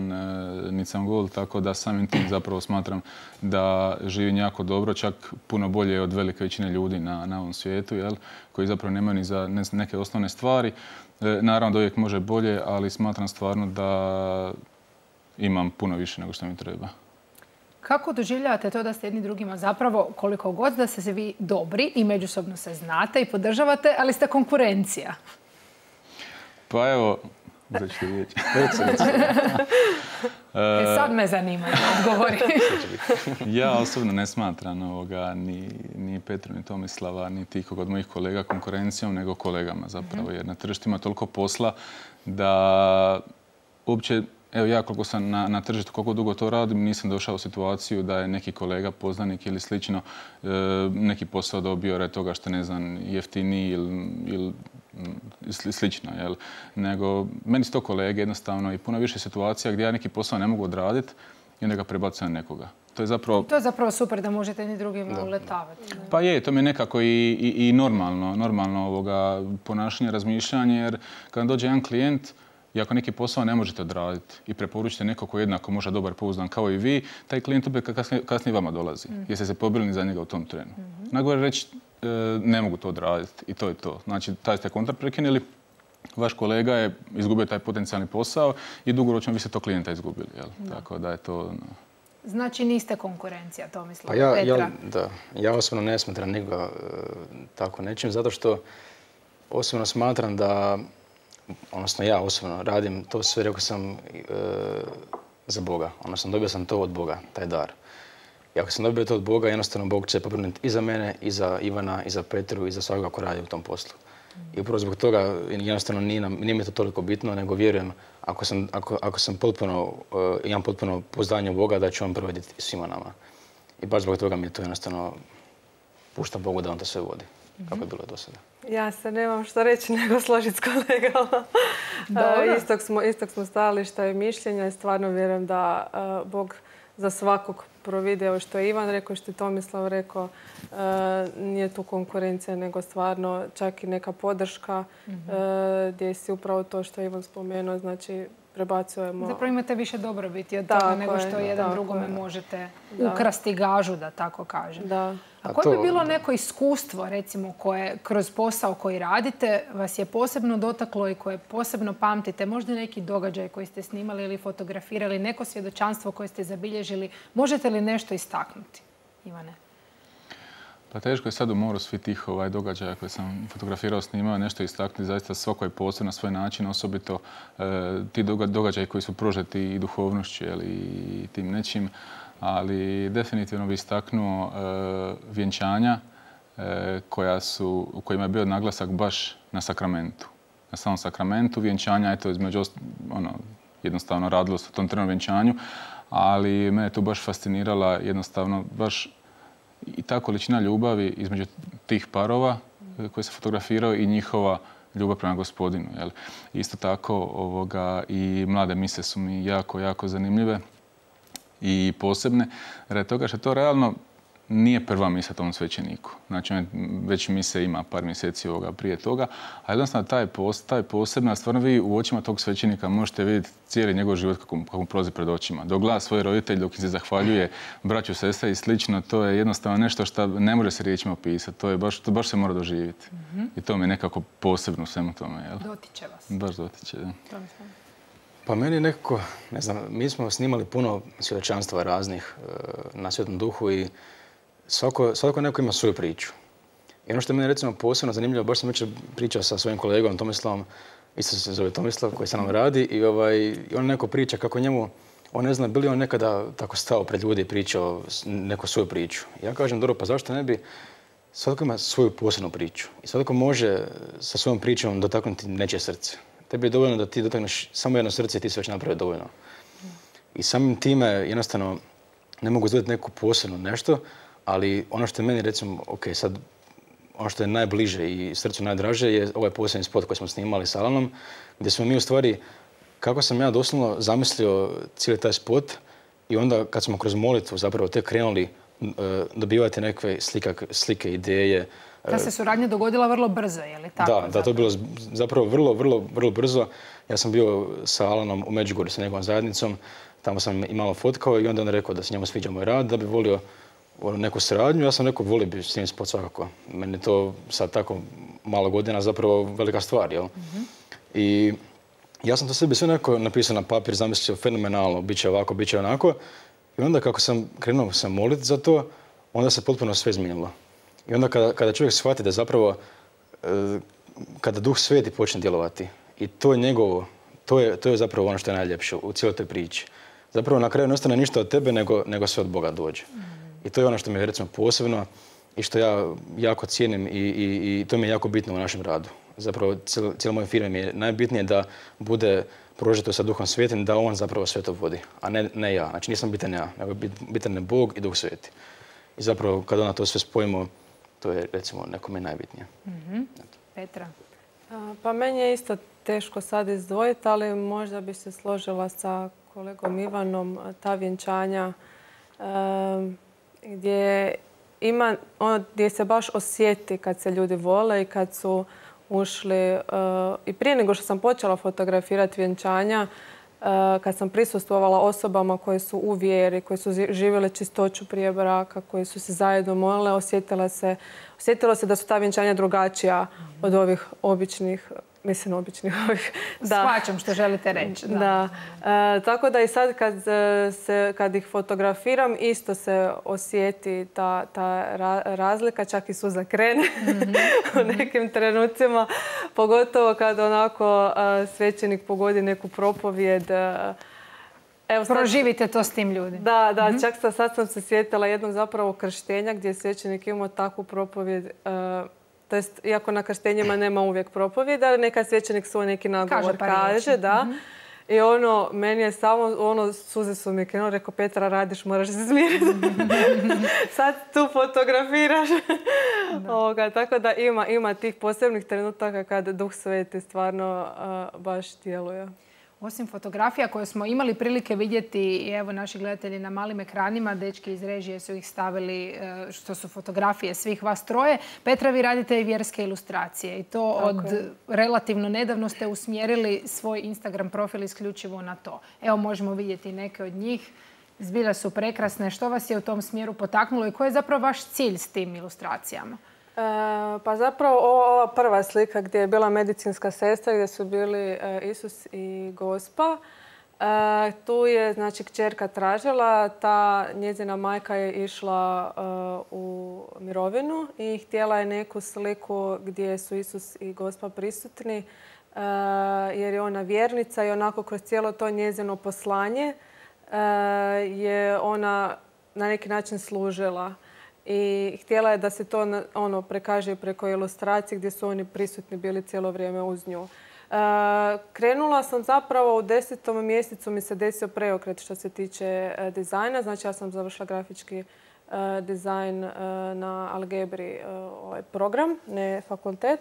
niti sam gol, tako da samim tim zapravo smatram da živim jako dobro, čak puno bolje od velike većine ljudi na, na ovom svijetu, jel, koji zapravo nemaju ni za neke osnovne stvari. Naravno da uvijek može bolje, ali smatram stvarno da imam puno više nego što mi treba. Kako doživljavate to da ste jedni drugima zapravo, koliko god da ste vi dobri i međusobno se znate i podržavate, ali ste konkurencija? Pa evo, uzet ću riječ. E, sad me zanima da odgovori. Ja osobno ne smatram ovoga, ni, ni Petru, ni Tomislava, ni tih od mojih kolega konkurencijom, nego kolegama zapravo. Jer na tržištu ima toliko posla da uopće, evo ja koliko sam na, na tržištu, koliko dugo to radim, nisam došao u situaciju da je neki kolega, poznanik ili slično e, neki posao dobio radi toga što ne znam, jeftiniji ili, ili slično. Jel? Nego, meni su to kolege jednostavno i puno više situacija gdje ja neki posao ne mogu odraditi i onda ga prebacujem na nekoga. To je zapravo... To je zapravo super da možete ni drugima uletavati. Pa je, to mi je nekako i, i, i normalno, normalno ovoga ponašanje, razmišljanje, jer kada dođe jedan klijent, i ako neki posao ne možete odraditi i preporučite neko koji je jednako možda dobar, pouzdan kao i vi, taj klijent opet kasnije, kasnije vama dolazi. Mm. Jer ste se pobrinuli za njega u tom trenu. Mm-hmm. Nagovor reći e, ne mogu to odraditi i to je to. Znači, taj ste kontrakt prekinuli, vaš kolega je izgubio taj potencijalni posao i dugoročno vi ste to klijenta izgubili. Jel? Da. Tako da je to... No. Znači niste konkurencija, Tomislav, pa ja, Petra? Ja, da, ja osobno ne smatram nikoga e, tako nečim, zato što osobno smatram da, odnosno ja osobno radim to sve, rekao sam, e, za Boga. Odnosno dobio sam to od Boga, taj dar. I ako sam dobio to od Boga, jednostavno Bog će pobrinuti i za mene, i za Ivana, i za Petru, i za svakoga ko radi u tom poslu. I upravo zbog toga jednostavno nije, nam, nije mi to toliko bitno, nego vjerujem ako sam, ako, ako sam potpuno, uh, imam potpuno pouzdanje u Boga da će on provoditi svima nama. I baš zbog toga mi je to jednostavno pušta Bogu da on to sve vodi, mm-hmm. kako je bilo do sada. Ja se nemam što reći nego složiti s kolegama. uh, istog, smo, istog smo stajališta i mišljenja i stvarno vjerujem da uh, Bog za svakog providi, evo što je Ivan rekao, što je Tomislav rekao, e, nije tu konkurencija, nego stvarno čak i neka podrška, mm-hmm. e, gdje si upravo to što je Ivan spomenuo, znači prebacujemo... Zapravo imate više dobrobiti od toga nego što jedan drugome je. možete da. ukrasti gažu, da tako kažem. Da. A koje bi bilo neko iskustvo, recimo, koje kroz posao koji radite vas je posebno dotaklo i koje posebno pamtite? Možda neki događaj koji ste snimali ili fotografirali, neko svjedočanstvo koje ste zabilježili. Možete li nešto istaknuti, Ivane? Pa teško je sad u moru svi tih ovaj, događaja koje sam fotografirao, snimao, nešto istaknuti. Zaista svako je posebno na svoj način, osobito e, ti događaji koji su prožeti i duhovnošću jel, i tim nečim. Ali definitivno bi istaknuo e, vjenčanja, koja su, u kojima je bio naglasak baš na sakramentu. Na samom sakramentu vjenčanja, eto, između ono, jednostavno radilo se o tom trenom vjenčanju, ali mene tu baš fascinirala jednostavno baš i ta količina ljubavi između tih parova koji se fotografirao i njihova ljubav prema Gospodinu. Jel? Isto tako ovoga, i mlade mise su mi jako, jako zanimljive i posebne, radi toga što to realno nije prva misa tom svećeniku. Znači, on već mise ima par mjeseci ovoga prije toga, a jednostavno taj, pos, taj posebna, stvarno vi u očima tog svećenika možete vidjeti cijeli njegov život kako, kako mu prolazi pred očima. Dok gleda svoje roditelje, dok im se zahvaljuje braću, sestre i slično, to je jednostavno nešto što ne može se riječima opisati. To je baš, to baš se mora doživjeti. Mm-hmm. I to mi je nekako posebno u svemu tome. Jel? Dotiče vas. Baš dotiče, da. Pa meni nekako, ne znam, mi smo snimali puno svjedočanstva raznih na Svetom Duhu i Svako, svako neko ima svoju priču. I ono što je meni recimo posebno zanimljivo, baš sam jučer pričao sa svojim kolegom Tomislavom, isto se zove Tomislav, koji sa nam radi, i, ovaj, i on neko priča kako njemu, on ne zna, bili on nekada tako stao pred ljudi i pričao neku svoju priču. Ja kažem, dobro, pa zašto ne bi, svatko ima svoju posebnu priču. I svatko može sa svojom pričom dotaknuti nečije srce. Tebi je dovoljno da ti dotakneš samo jedno srce i ti se već napravi dovoljno. I samim time jednostavno ne mogu izgledati neku posebno nešto, ali ono što je meni, recimo, ok, sad, ono što je najbliže i srcu najdraže je ovaj posljednji spot koji smo snimali s Alanom, gdje smo mi u stvari, kako sam ja doslovno zamislio cijeli taj spot i onda kad smo kroz molitvu zapravo tek krenuli uh, dobivati neke slika, slike, ideje. Ta se suradnja dogodila vrlo brzo, je li tako? Da, da, to je bilo zapravo vrlo, vrlo, vrlo brzo. Ja sam bio sa Alanom u Međugorju sa njegovom zajednicom, tamo sam i malo fotkao i onda on rekao da se njemu sviđa moj rad, da bi volio neku suradnju. Ja sam rekao, volio bi s njim spot svakako. Meni je to sad tako malo godina zapravo velika stvar, jel? Mm-hmm. I ja sam to sebi sve nekako napisao na papir, zamislio fenomenalno, bit će ovako, bit će onako. I onda kako sam krenuo sam moliti za to, onda se potpuno sve izmijenilo. I onda kada, kada čovjek shvati da zapravo, kada Duh Sveti počne djelovati, i to je njegovo, to je, to je zapravo ono što je najljepše u cijeloj toj priči. Zapravo na kraju ne ostane ništa od tebe, nego, nego sve od Boga dođe. Mm-hmm. I to je ono što mi je recimo posebno i što ja jako cijenim i, i, i to mi je jako bitno u našem radu. Zapravo cijelo moje firme mi je najbitnije da bude prožeto sa Duhom Svetim, da on zapravo sve to vodi, a ne, ne ja. Znači nisam bitan ja, nego bitan je Bog i Duh Sveti. I zapravo kada na to sve spojimo, to je recimo nekome najbitnije. Mm-hmm. Petra? A, pa meni je isto teško sad izdvojiti, ali možda bi se složila sa kolegom Ivanom, ta vjenčanja um, gdje ima, ono, gdje se baš osjeti kad se ljudi vole i kad su ušli. Uh, I prije nego što sam počela fotografirati vjenčanja, uh, kad sam prisustvovala osobama koje su u vjeri, koje su živjele čistoću prije braka, koje su se zajedno molile, osjetila se, osjetilo se da su ta vjenčanja drugačija mm-hmm. od ovih običnih, mislim običnih ovih. Shvaćam što želite reći. Da. Da. E, tako da i sad kad, se, kad ih fotografiram isto se osjeti ta, ta ra, razlika, čak i suza krene mm-hmm. u nekim trenucima. Pogotovo kad onako a, svećenik pogodi neku propovijed. A, evo sad, proživite to s tim ljudima. Da, da. Mm-hmm. Čak sad, sad sam se sjetila jednog zapravo krštenja gdje je svećenik imao takvu propovijed. A, To jest, iako na krštenjima nema uvijek propovjed, ali neka svećenik svoj neki nagovor kaže, kaže da. Mm-hmm. I ono, meni je samo, ono, suze su mi krenuo, rekao, Petra, radiš, moraš se smiriti. Sad tu fotografiraš. Ovoga, tako da ima, ima tih posebnih trenutaka kad Duh Sveti stvarno uh, baš djeluje. Osim fotografija koje smo imali prilike vidjeti i evo naši gledatelji na malim ekranima, dečki iz režije su ih stavili što su fotografije svih vas troje. Petra, vi radite i vjerske ilustracije i to tako od je. Relativno nedavno ste usmjerili svoj Instagram profil isključivo na to. Evo možemo vidjeti neke od njih. Zbilja su prekrasne. Što vas je u tom smjeru potaknulo i koji je zapravo vaš cilj s tim ilustracijama? E, pa zapravo ova prva slika gdje je bila medicinska sestra, gdje su bili e, Isus i Gospa. E, tu je, znači, kćerka tražila, ta njezina majka je išla e, u mirovinu i htjela je neku sliku gdje su Isus i Gospa prisutni, e, jer je ona vjernica i onako kroz cijelo to njezino poslanje e, je ona na neki način služila. i htjela je da se to ono, prekaže preko ilustracije gdje su oni prisutni bili cijelo vrijeme uz nju. Uh, krenula sam zapravo u desetom mjesecu mi se desio preokret što se tiče uh, dizajna. Znači ja sam završila grafički uh, dizajn uh, na Algebri uh, ovaj program, ne fakultet.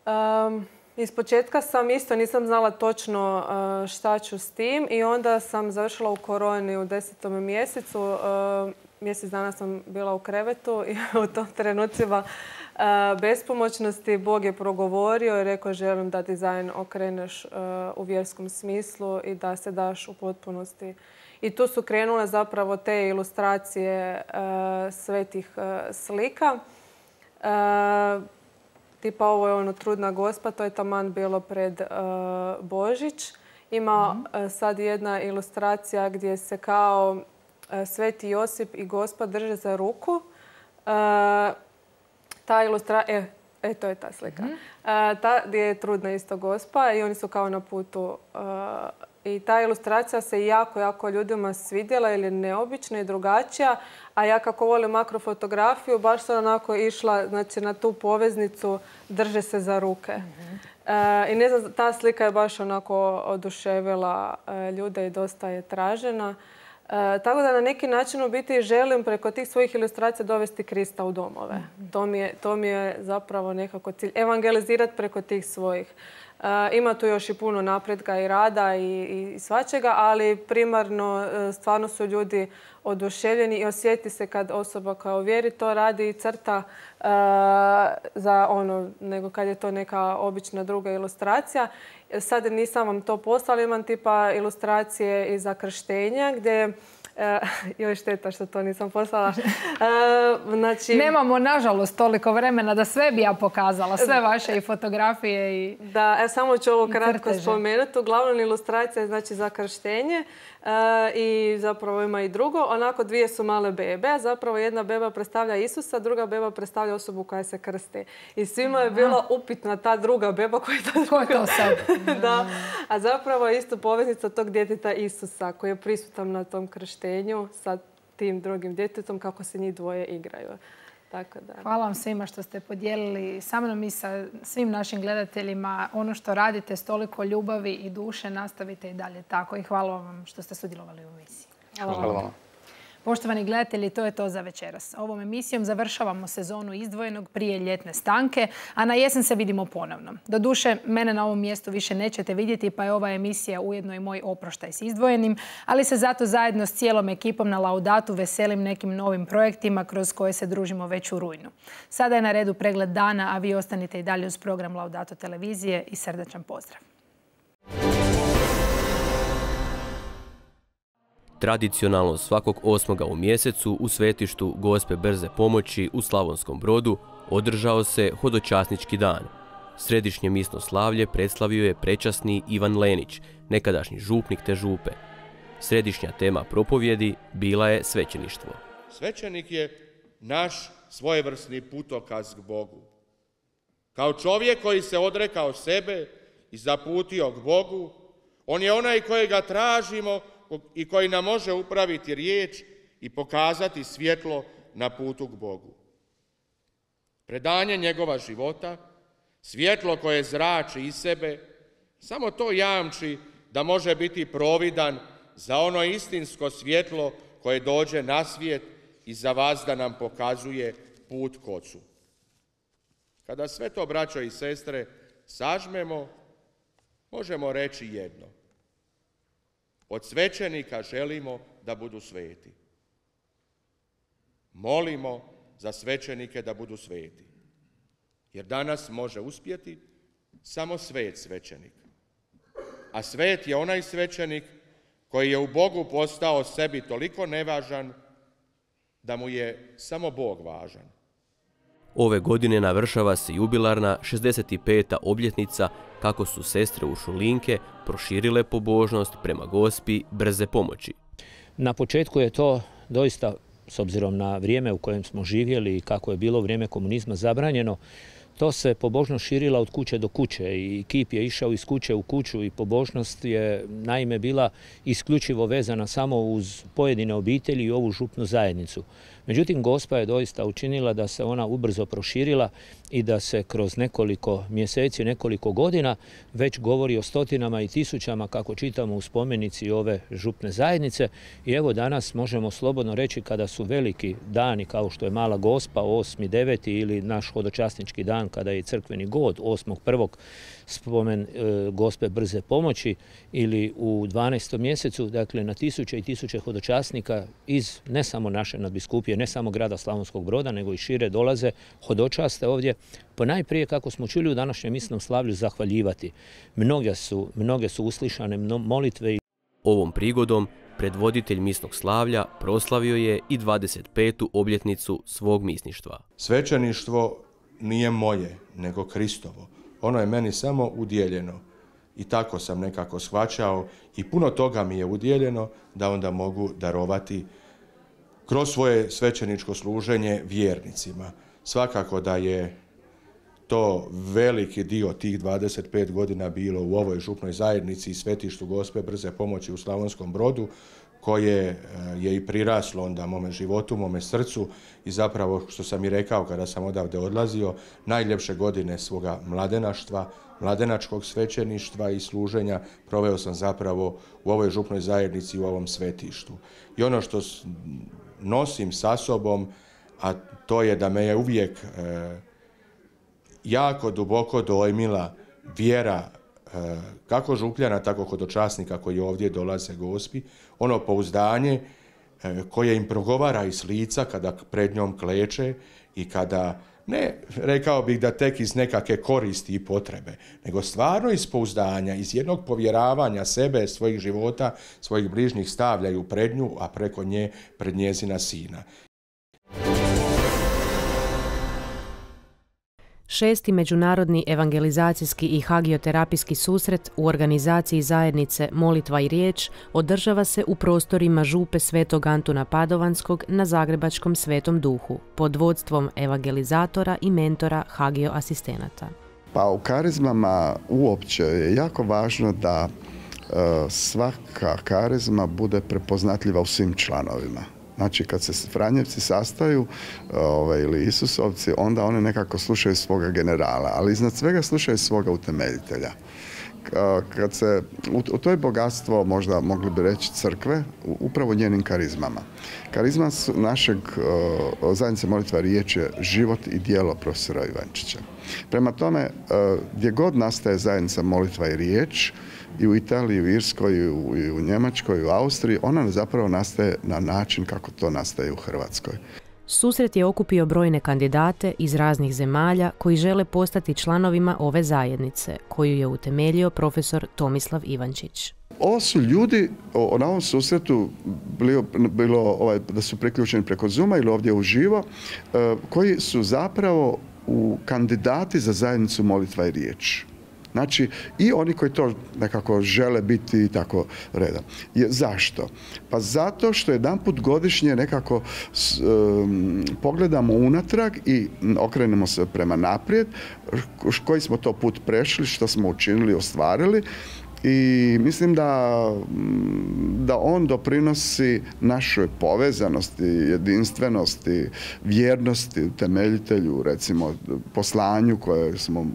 Um, Iz početka sam isto nisam znala točno uh, šta ću s tim i onda sam završila u koroni u desetom mjesecu. Uh, mjesec dana sam bila u krevetu i u tom trenucima uh, bespomoćnosti Bog je progovorio i rekao želim da dizajn okreneš uh, u vjerskom smislu i da se daš u potpunosti. I tu su krenule zapravo te ilustracije uh, svetih uh, slika. Uh, Tipa ovo je ono Trudna Gospa, to je taman bilo pred uh, Božić. Ima mm-hmm. uh, sad jedna ilustracija gdje se kao uh, Sveti Josip i Gospa drže za ruku. Uh, ta ilustracija, e, e, to je ta slika. Mm-hmm. Uh, ta gdje je Trudna isto Gospa i oni su kao na putu. Uh, I ta ilustracija se jako, jako ljudima svidjela jer je neobična i drugačija. A ja kako volim makrofotografiju, baš sam onako išla znači, na tu poveznicu drže se za ruke. Mm-hmm. e, I ne znam, ta slika je baš onako oduševila e, ljude i dosta je tražena. E, tako da na neki način u biti želim preko tih svojih ilustracija dovesti Krista u domove. Mm-hmm. To mi je, to mi je zapravo nekako cilj. Evangelizirati preko tih svojih. Uh, ima tu još i puno napretka i rada i, i svačega, ali primarno uh, stvarno su ljudi oduševljeni i osjeti se kad osoba koja u vjeri to radi i crta uh, za ono, nego kad je to neka obična druga ilustracija. Sad nisam vam to poslala, imam tipa ilustracije i za krštenja gdje E, joj šteta što to nisam poslala. E, znači... Nemamo, nažalost, toliko vremena da sve bi ja pokazala. Sve vaše i fotografije i Da, e, samo ću ovo kratko spomenuti. Uglavnom ilustracija je znači za krštenje e, i zapravo ima i drugo. Onako dvije su male bebe, a zapravo jedna beba predstavlja Isusa, druga beba predstavlja osobu koja se krsti. I svima je bila upitna ta druga beba koja je ta druga. Ko je to sad? Da, a zapravo je isto poveznica tog djeteta Isusa koji je prisutan na tom krštenju sa tim drugim djetetom kako se njih dvoje igraju. Tako da. Hvala vam svima što ste podijelili sa mnom i sa svim našim gledateljima ono što radite s toliko ljubavi i duše. Nastavite i dalje tako i hvala vam što ste sudjelovali u emisiji. Hvala, hvala vam. Poštovani gledatelji, to je to za večeras. Ovom emisijom završavamo sezonu Izdvojenog prije ljetne stanke, a na jesen se vidimo ponovno. Doduše, mene na ovom mjestu više nećete vidjeti, pa je ova emisija ujedno i moj oproštaj s Izdvojenim, ali se zato zajedno s cijelom ekipom na Laudatu veselim nekim novim projektima kroz koje se družimo već u rujnu. Sada je na redu pregled dana, a vi ostanite i dalje uz program Laudato televizije i srdačan pozdrav. Tradicionalno svakog osmoga u mjesecu u svetištu Gospe Brze pomoći u Slavonskom Brodu održao se hodočasnički dan. Središnje misno slavlje predstavio je prečasni Ivan Lenić, nekadašnji župnik te župe. Središnja tema propovjedi bila je svećeništvo. Svećenik je naš svojevrsni putokaz k Bogu. Kao čovjek koji se odrekao sebe i zaputio k Bogu, on je onaj kojega tražimo i koji nam može upraviti riječ i pokazati svjetlo na putu k Bogu. Predanje njegova života, svjetlo koje zrači iz sebe, samo to jamči da može biti providan za ono istinsko svjetlo koje dođe na svijet i za vas da nam pokazuje put k Ocu. Kada sve to, braćo i sestre, sažmemo, možemo reći jedno. Od svećenika želimo da budu sveti. Molimo za svećenike da budu sveti. Jer danas može uspjeti samo svet svećenik. A svet je onaj svećenik koji je u Bogu postao sebi toliko nevažan da mu je samo Bog važan. Ove godine navršava se jubilarna šezdeset peta obljetnica kako su sestre Uršulinke proširile pobožnost prema Gospi Brze pomoći. Na početku je to doista, s obzirom na vrijeme u kojem smo živjeli i kako je bilo vrijeme komunizma zabranjeno, to se pobožnost širila od kuće do kuće i kip je išao iz kuće u kuću i pobožnost je naime bila isključivo vezana samo uz pojedine obitelji i ovu župnu zajednicu. Međutim, Gospa je doista učinila da se ona ubrzo proširila i da se kroz nekoliko mjeseci, nekoliko godina već govori o stotinama i tisućama, kako čitamo u spomenici ove župne zajednice. I evo danas možemo slobodno reći, kada su veliki dani kao što je Mala Gospa, osmi deveti ili naš hodočasnički dan kada je crkveni god osmog prvog spomen e, Gospe Brze pomoći, ili u dvanaestom mjesecu, dakle na tisuće i tisuće hodočasnika iz ne samo naše nadbiskupije, ne samo grada Slavonskog Broda, nego i šire dolaze hodočaste ovdje. Ponajprije, kako smo čuli u današnjem misnom slavlju, zahvaljivati. Mnoge su, mnoge su uslišane molitve. Ovom prigodom predvoditelj misnog slavlja proslavio je i dvadeset petu obljetnicu svog misništva. Svećeništvo nije moje, nego Kristovo. Ono je meni samo udjeljeno. I tako sam nekako shvaćao i puno toga mi je udjeljeno da onda mogu darovati kroz svoje svećeničko služenje vjernicima. Svakako da je to veliki dio tih dvadeset pet godina bilo u ovoj župnoj zajednici i svetištu Gospe Brze pomoći u Slavonskom Brodu, koje je i priraslo onda mome životu, mome srcu i zapravo, što sam i rekao kada sam odavde odlazio, najljepše godine svoga mladenaštva, mladenačkog svećeništva i služenja proveo sam zapravo u ovoj župnoj zajednici, u ovom svetištu. I ono što nosim sa sobom, a to je da me je uvijek e, jako duboko dojmila vjera e, kako župljana, tako hodočasnika koji ovdje dolaze Gospi, ono pouzdanje e, koje im progovara iz lica kada pred njom kleče i kada, ne rekao bih da tek iz nekakve koristi i potrebe, nego stvarno iz pouzdanja, iz jednog povjeravanja sebe, svojih života, svojih bližnjih stavljaju pred nju, a preko nje pred njezina sina. Šesti međunarodni evangelizacijski i hagioterapijski susret u organizaciji zajednice Molitva i riječ održava se u prostorima župe Svetog Antuna Padovanskog na zagrebačkom Svetom Duhu pod vodstvom evangelizatora i mentora hagio asistenata. Pa u karizmama uopće je jako važno da e, svaka karizma bude prepoznatljiva u svim članovima. Znači, kad se Franjevci sastaju ovaj, ili Isusovci, onda oni nekako slušaju svoga generala, ali iznad svega slušaju svoga utemeljitelja. Kad se, u, u to je bogatstvo, možda mogli bi reći, crkve, upravo njenim karizmama. Karizma našeg uh, zajednice Molitva i riječ je život i djelo profesora Ivančića. Prema tome, uh, gdje god nastaje zajednica Molitva i riječ, i u Italiji, i u Irskoj, i u, i u Njemačkoj, i u Austriji, ona zapravo nastaje na način kako to nastaje u Hrvatskoj. Susret je okupio brojne kandidate iz raznih zemalja koji žele postati članovima ove zajednice, koju je utemeljio profesor Tomislav Ivančić. Ovo su ljudi, o, na ovom susretu bilo, bilo ovaj, da su priključeni preko Zooma ili ovdje uživo, eh, koji su zapravo u kandidati za zajednicu Molitva i riječ. Znači, i oni koji to nekako žele biti tako redom. Je, zašto? Pa zato što jedanput godišnje nekako um, pogledamo unatrag i okrenemo se prema naprijed, koji smo to put prešli, što smo učinili, ostvarili. I mislim da, da on doprinosi našoj povezanosti, jedinstvenosti, vjernosti, temeljitelju, recimo poslanju kojeg smo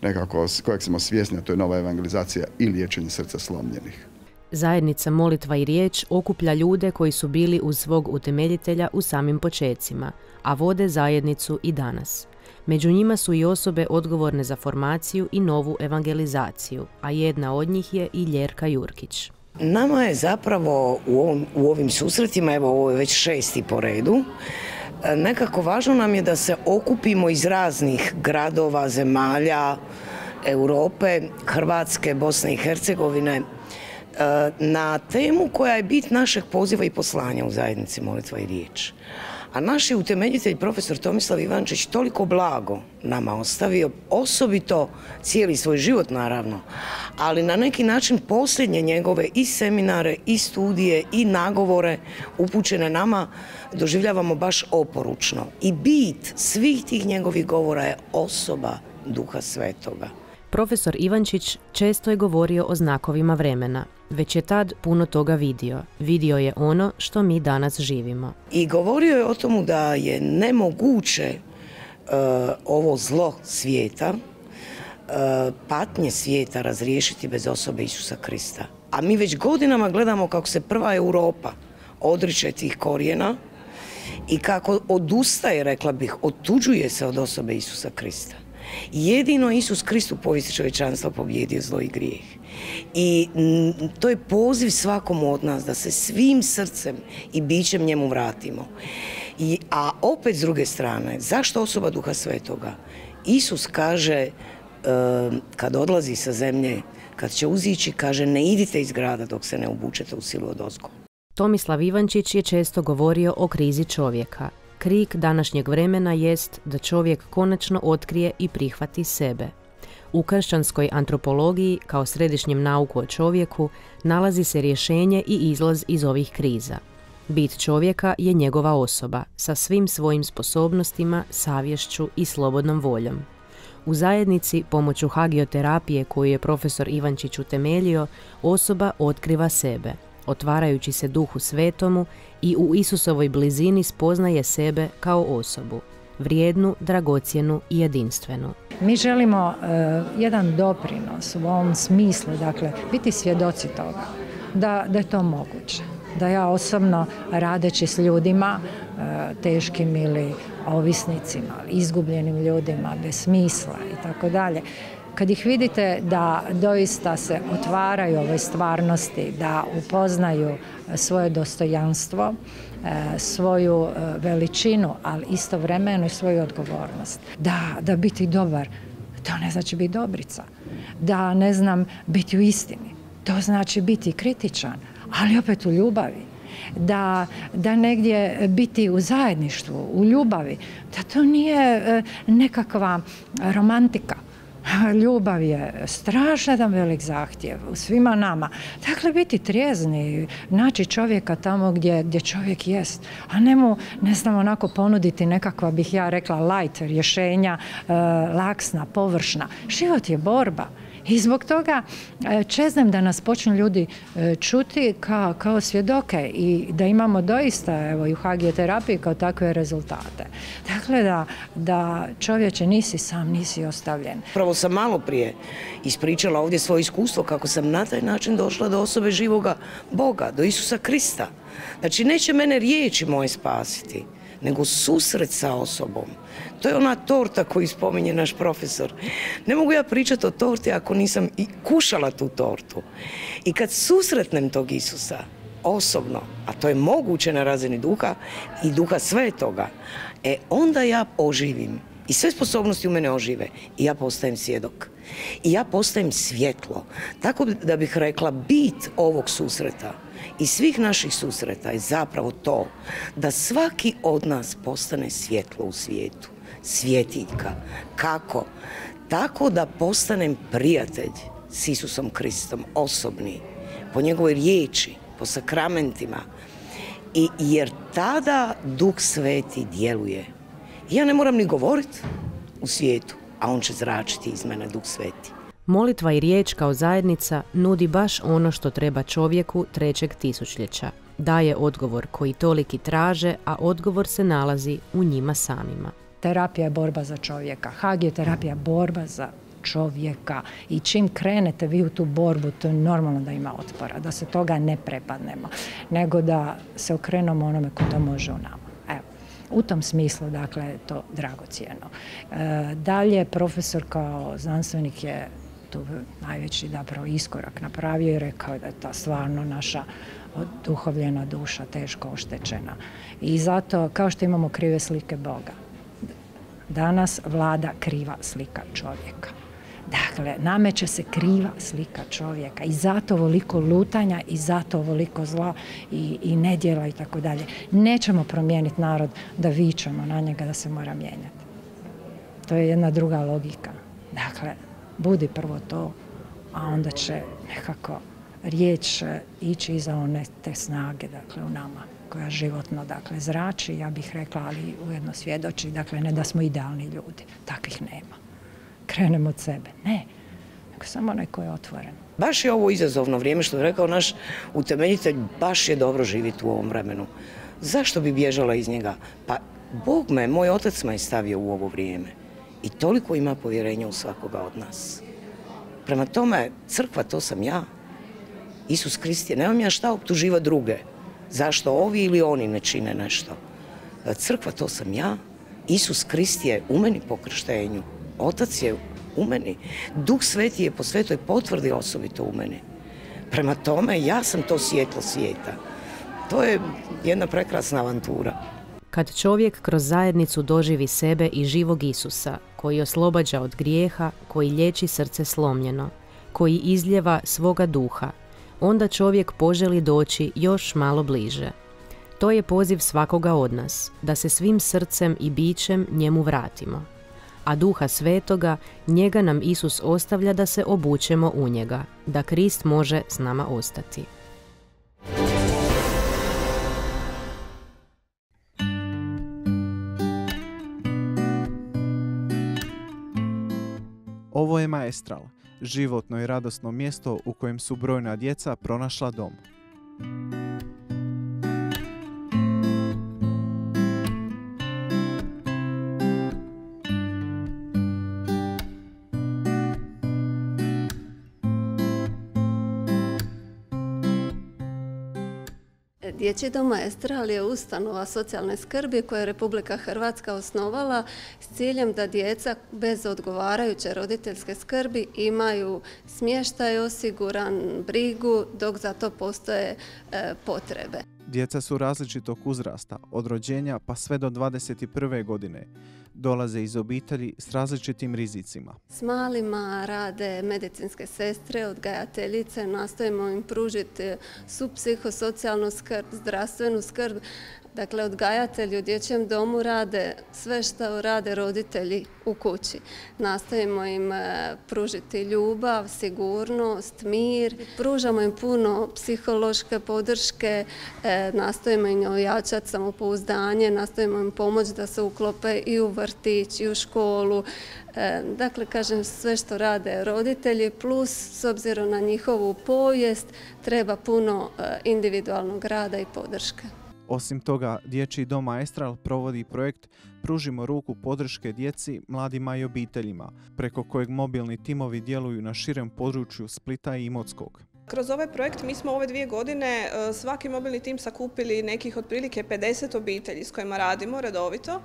nekako, kojeg smo svjesni, a to je nova evangelizacija i liječenje srca slomljenih. Zajednica Molitva i riječ okuplja ljude koji su bili uz svog utemeljitelja u samim počecima, a vode zajednicu i danas. Među njima su i osobe odgovorne za formaciju i novu evangelizaciju, a jedna od njih je i Ljerka Jurkić. Nama je zapravo u, ovom, u ovim susretima, evo ovo je već šesti po redu, nekako važno nam je da se okupimo iz raznih gradova, zemalja, Europe, Hrvatske, Bosne i Hercegovine, na temu koja je bit našeg poziva i poslanja u zajednici Molitva i riječ. A naš je utemeljitelj profesor Tomislav Ivančić toliko blago nama ostavio, osobito cijeli svoj život naravno, ali na neki način posljednje njegove i seminare, i studije, i nagovore upućene nama doživljavamo baš oporučno. I bit svih tih njegovih govora je osoba Duha Svetoga. Profesor Ivančić često je govorio o znakovima vremena. već je tad puno toga vidio. Vidio je ono što mi danas živimo. I govorio je o tomu da je nemoguće uh, ovo zlo svijeta, uh, patnje svijeta razriješiti bez osobe Isusa Krista. A mi već godinama gledamo kako se prva Europa odriče tih korijena i kako odustaje, rekla bih, otuđuje se od osobe Isusa Krista. Jedino Isus Krist u povijesti čovječanstva pobjedio zlo i grijeh. I m, to je poziv svakomu od nas da se svim srcem i bićem njemu vratimo. I, a opet s druge strane, zašto osoba Duha Svetoga? Isus kaže, e, kad odlazi sa zemlje, kad će uzići, kaže, ne idite iz grada dok se ne obučete u silu odozgo. Tomislav Ivančić je često govorio o krizi čovjeka. Krik današnjeg vremena jest da čovjek konačno otkrije i prihvati sebe. U kršćanskoj antropologiji, kao središnjem nauku o čovjeku, nalazi se rješenje i izlaz iz ovih kriza. Bit čovjeka je njegova osoba, sa svim svojim sposobnostima, savješću i slobodnom voljom. U zajednici, pomoću hagioterapije koju je profesor Ivančić utemeljio, osoba otkriva sebe, otvarajući se Duhu Svetomu i u Isusovoj blizini spoznaje sebe kao osobu, vrijednu, dragocjenu i jedinstvenu. Mi želimo uh, jedan doprinos u ovom smislu, dakle, biti svjedoci toga, da, da je to moguće. Da ja osobno, radeći s ljudima, uh, teškim ili ovisnicima, izgubljenim ljudima, bez smisla i tako dalje, kad ih vidite da doista se otvaraju ovoj stvarnosti, da upoznaju svoje dostojanstvo, svoju veličinu, ali istovremeno i svoju odgovornost. Da, da biti dobar, to ne znači biti dobrica. Da, ne znam, biti u istini, to znači biti kritičan, ali opet u ljubavi. Da, da negdje biti u zajedništvu, u ljubavi, da to nije nekakva romantika. Ljubav je strašno jedan velik zahtjev u svima nama. Dakle, biti trijezni, naći čovjeka tamo gdje, gdje čovjek jest, a ne mu, ne znam, onako ponuditi nekakva, bih ja rekla, light rješenja, e, laksna, površna. Život je borba. I zbog toga čeznem da nas počnu ljudi čuti kao, kao svjedoke i da imamo doista, evo, i u hagioterapiji kao takve rezultate. Dakle, da, da čovječe nisi sam, nisi ostavljen. Prvo sam malo prije ispričala ovdje svoje iskustvo kako sam na taj način došla do osobe živoga Boga, do Isusa Krista. Znači, neće mene riječi moje spasiti, nego susret sa osobom. To je ona torta koju spominje naš profesor. Ne mogu ja pričati o torti ako nisam i kušala tu tortu. I kad susretnem tog Isusa osobno, a to je moguće na razini Duha i Duha Svetoga, e onda ja oživim. I sve sposobnosti u mene ožive. I ja postajem svjedok. I ja postajem svjetlo. Tako da bih rekla, bit ovog susreta i svih naših susreta je zapravo to da svaki od nas postane svjetlo u svijetu. Svjetiljka. Kako? Tako da postanem prijatelj s Isusom Kristom, osobni, po njegovoj riječi, po sakramentima. I jer tada Duh Sveti djeluje. Ja ne moram ni govoriti u svijetu, a on će zračiti iz mene, Duh Sveti. Molitva i riječ kao zajednica nudi baš ono što treba čovjeku trećeg tisućljeća. Daje odgovor koji toliki traže, a odgovor se nalazi u njima samima. Terapija je borba za čovjeka. Hagioterapija je borba za čovjeka. I čim krenete vi u tu borbu, to je normalno da ima otpora, da se toga ne prepadnemo, nego da se okrenemo onome ko to može u nama. Evo. U tom smislu, dakle, je to dragocjeno. E, dalje, profesor kao znanstvenik je tu najveći zapravo iskorak napravio i rekao da je ta stvarno naša oduhovljena duša teško oštećena. I zato, kao što imamo krive slike Boga, danas vlada kriva slika čovjeka. Dakle, nameće se kriva slika čovjeka i zato ovoliko lutanja i zato ovoliko zla i, i nedjela i tako dalje. Nećemo promijeniti narod da vičemo na njega da se mora mijenjati. To je jedna druga logika. Dakle, budi prvo to, a onda će nekako riječ ići iza one te snage, dakle, u nama, koja životno, dakle, zrači, ja bih rekla, ali ujedno svjedoči, dakle, ne da smo idealni ljudi, takvih nema. Krenemo od sebe, ne, nego samo onaj koji je otvoren. Baš je ovo izazovno vrijeme, što je rekao naš utemeljitelj, baš je dobro živjeti u ovom vremenu. Zašto bi bježala iz njega? Pa Bog me, moj otac me je stavio u ovo vrijeme i toliko ima povjerenja u svakoga od nas. Prema tome, crkva to sam ja. Isus Krist je, nemam ja šta optuživa druge. Zašto ovi ili oni ne čine nešto. Crkva to sam ja. Isus Krist je u meni po krštenju. Otac je u meni. Duh Sveti je po svetoj potvrdi osobito u meni. Prema tome, ja sam to svjetlo svijeta. To je jedna prekrasna avantura. Kad čovjek kroz zajednicu doživi sebe i živog Isusa, koji oslobađa od grijeha, koji liječi srce slomljeno, koji izljeva svoga duha, onda čovjek poželi doći još malo bliže. To je poziv svakoga od nas, da se svim srcem i bićem njemu vratimo. A Duha Svetoga, njega nam Isus ostavlja da se obučemo u njega, da Krist može s nama ostati. Ovo je Maestral, životno i radosno mjesto u kojem su brojna djeca pronašla dom. Dječji dom Maestral je ustanova socijalne skrbi koju je Republika Hrvatska osnovala s ciljem da djeca bez odgovarajuće roditeljske skrbi imaju smještaj osiguran, brigu, dok za to postoje e, potrebe. Djeca su različitog uzrasta, od rođenja pa sve do dvadeset prve godine. Dolaze iz obitelji s različitim rizicima. S malima rade medicinske sestre, odgajateljice, nastojimo im pružiti subpsihosocijalnu skrb, zdravstvenu skrb. Dakle, odgajatelji u dječjem domu rade sve što rade roditelji u kući. Nastojimo im pružiti ljubav, sigurnost, mir. Pružamo im puno psihološke podrške, nastojimo im ojačati samopouzdanje, nastojimo im pomoći da se uklope i u vrtić i u školu. Dakle, kažem, sve što rade roditelji, plus s obzirom na njihovu povijest treba puno individualnog rada i podrške. Osim toga, Dječji dom Maestral provodi projekt Pružimo ruku podrške djeci, mladima i obiteljima, preko kojeg mobilni timovi djeluju na širem području Splita i Imotskog. Kroz ovaj projekt mi smo ove dvije godine svaki mobilni tim sakupili nekih otprilike pedeset obitelji s kojima radimo redovito.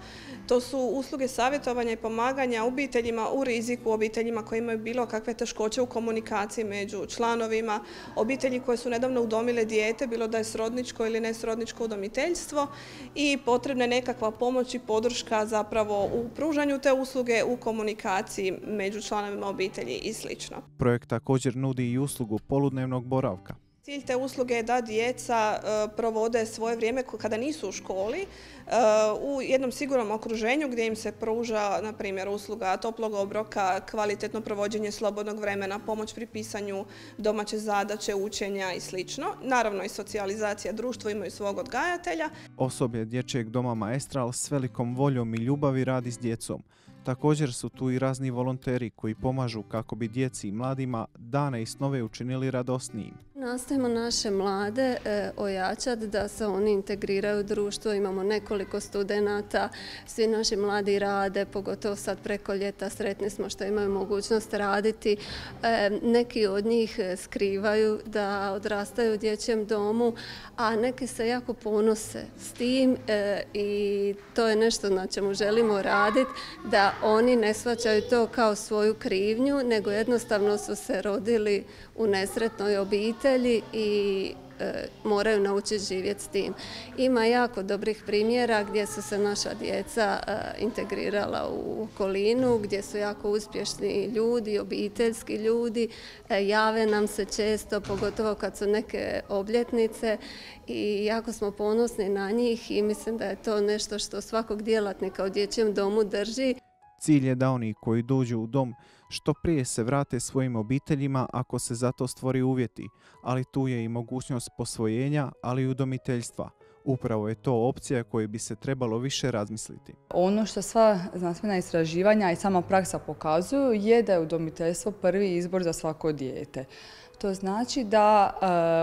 To su usluge savjetovanja i pomaganja obiteljima u riziku, obiteljima koji imaju bilo kakve teškoće u komunikaciji među članovima, obitelji koje su nedavno udomile dijete, bilo da je srodničko ili nesrodničko udomiteljstvo i potrebna je nekakva pomoć i podrška zapravo u pružanju te usluge, u komunikaciji među članovima obitelji i sl. Projekt također nudi i uslugu poludnevnog boravka. Cilj te usluge je da djeca provode svoje vrijeme kada nisu u školi u jednom sigurnom okruženju gdje im se pruža, na primjer, usluga toplog obroka, kvalitetno provođenje slobodnog vremena, pomoć pri pisanju domaće zadaće, učenja i sl. Naravno i socijalizacija, društvo imaju svog odgajatelja. Osoblje Dječjeg doma Maestral s velikom voljom i ljubavi radi s djecom. Također su tu i razni volonteri koji pomažu kako bi djeci i mladima dane i snove učinili radosnijim. Nastojimo naše mlade e, ojačati da se oni integriraju u društvo. Imamo nekoliko studenata, svi naši mladi rade, pogotovo sad preko ljeta sretni smo što imaju mogućnost raditi. E, neki od njih skrivaju da odrastaju u dječjem domu, a neki se jako ponose s tim e, i to je nešto na čemu želimo raditi, da oni ne shvaćaju to kao svoju krivnju, nego jednostavno su se rodili u nesretnoj obitelji i e, moraju naučiti živjeti s tim. Ima jako dobrih primjera gdje su se naša djeca e, integrirala u okolinu, gdje su jako uspješni ljudi, obiteljski ljudi, e, jave nam se često, pogotovo kad su neke obljetnice i jako smo ponosni na njih i mislim da je to nešto što svakog djelatnika u dječjem domu drži. Cilj je da oni koji dođu u dom što prije se vrate svojim obiteljima ako se za to stvori uvjeti, ali tu je i mogućnost posvojenja, ali i udomiteljstva. Upravo je to opcija koju bi se trebalo više razmisliti. Ono što sva znanstvena istraživanja i sama praksa pokazuju je da je udomiteljstvo prvi izbor za svako dijete. To znači da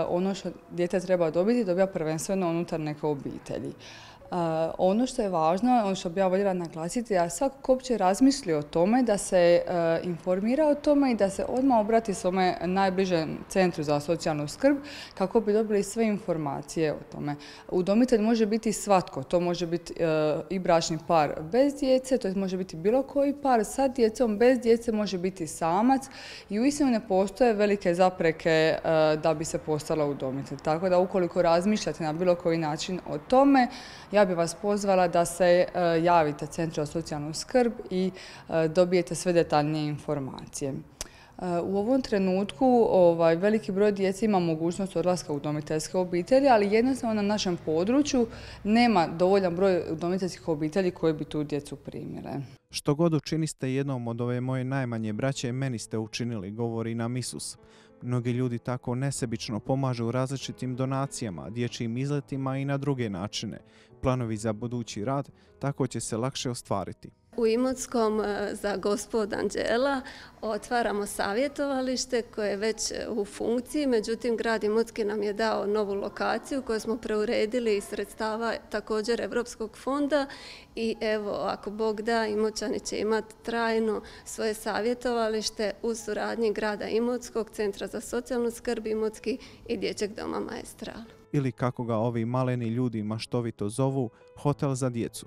ono što dijete treba dobiti, dobija prvenstveno unutar neke obitelji. Uh, ono što je važno, ono što bi ja voljela naglasiti, da svako ko uopće razmisli o tome, da se uh, informira o tome i da se odmah obrati svome najbližem centru za socijalnu skrb kako bi dobili sve informacije o tome. Udomitelj može biti svatko, to može biti uh, i bračni par bez djece, to može biti bilo koji par sa djecom, bez djece može biti samac i uistinu ne postoje velike zapreke uh, da bi se postala udomitelj. Tako da ukoliko razmišljate na bilo koji način o tome, ja bih vas pozvala da se uh, javite Centru za socijalnu skrb i uh, dobijete sve detaljnije informacije. Uh, u ovom trenutku ovaj, veliki broj djece ima mogućnost odlaska u udomiteljske obitelji, ali jednostavno na našem području nema dovoljan broj udomiteljskih obitelji koji bi tu djecu primile. Što god učiniste jednom od ove moje najmanje braće, meni ste učinili, govori nam Isus. Mnogi ljudi tako nesebično pomažu različitim donacijama, dječjim izletima i na druge načine. Planovi za budući rad tako će se lakše ostvariti. U Imotskom za Gospod Anđela otvaramo savjetovalište koje je već u funkciji, međutim grad Imotski nam je dao novu lokaciju koju smo preuredili iz sredstava također Europskog fonda i evo, ako Bog da, Imoćani će imati trajno svoje savjetovalište u suradnji grada Imotskog, Centra za socijalnu skrb Imotski i Dječjeg doma Maestral. Ili kako ga ovi maleni ljudi maštovito zovu, hotel za djecu.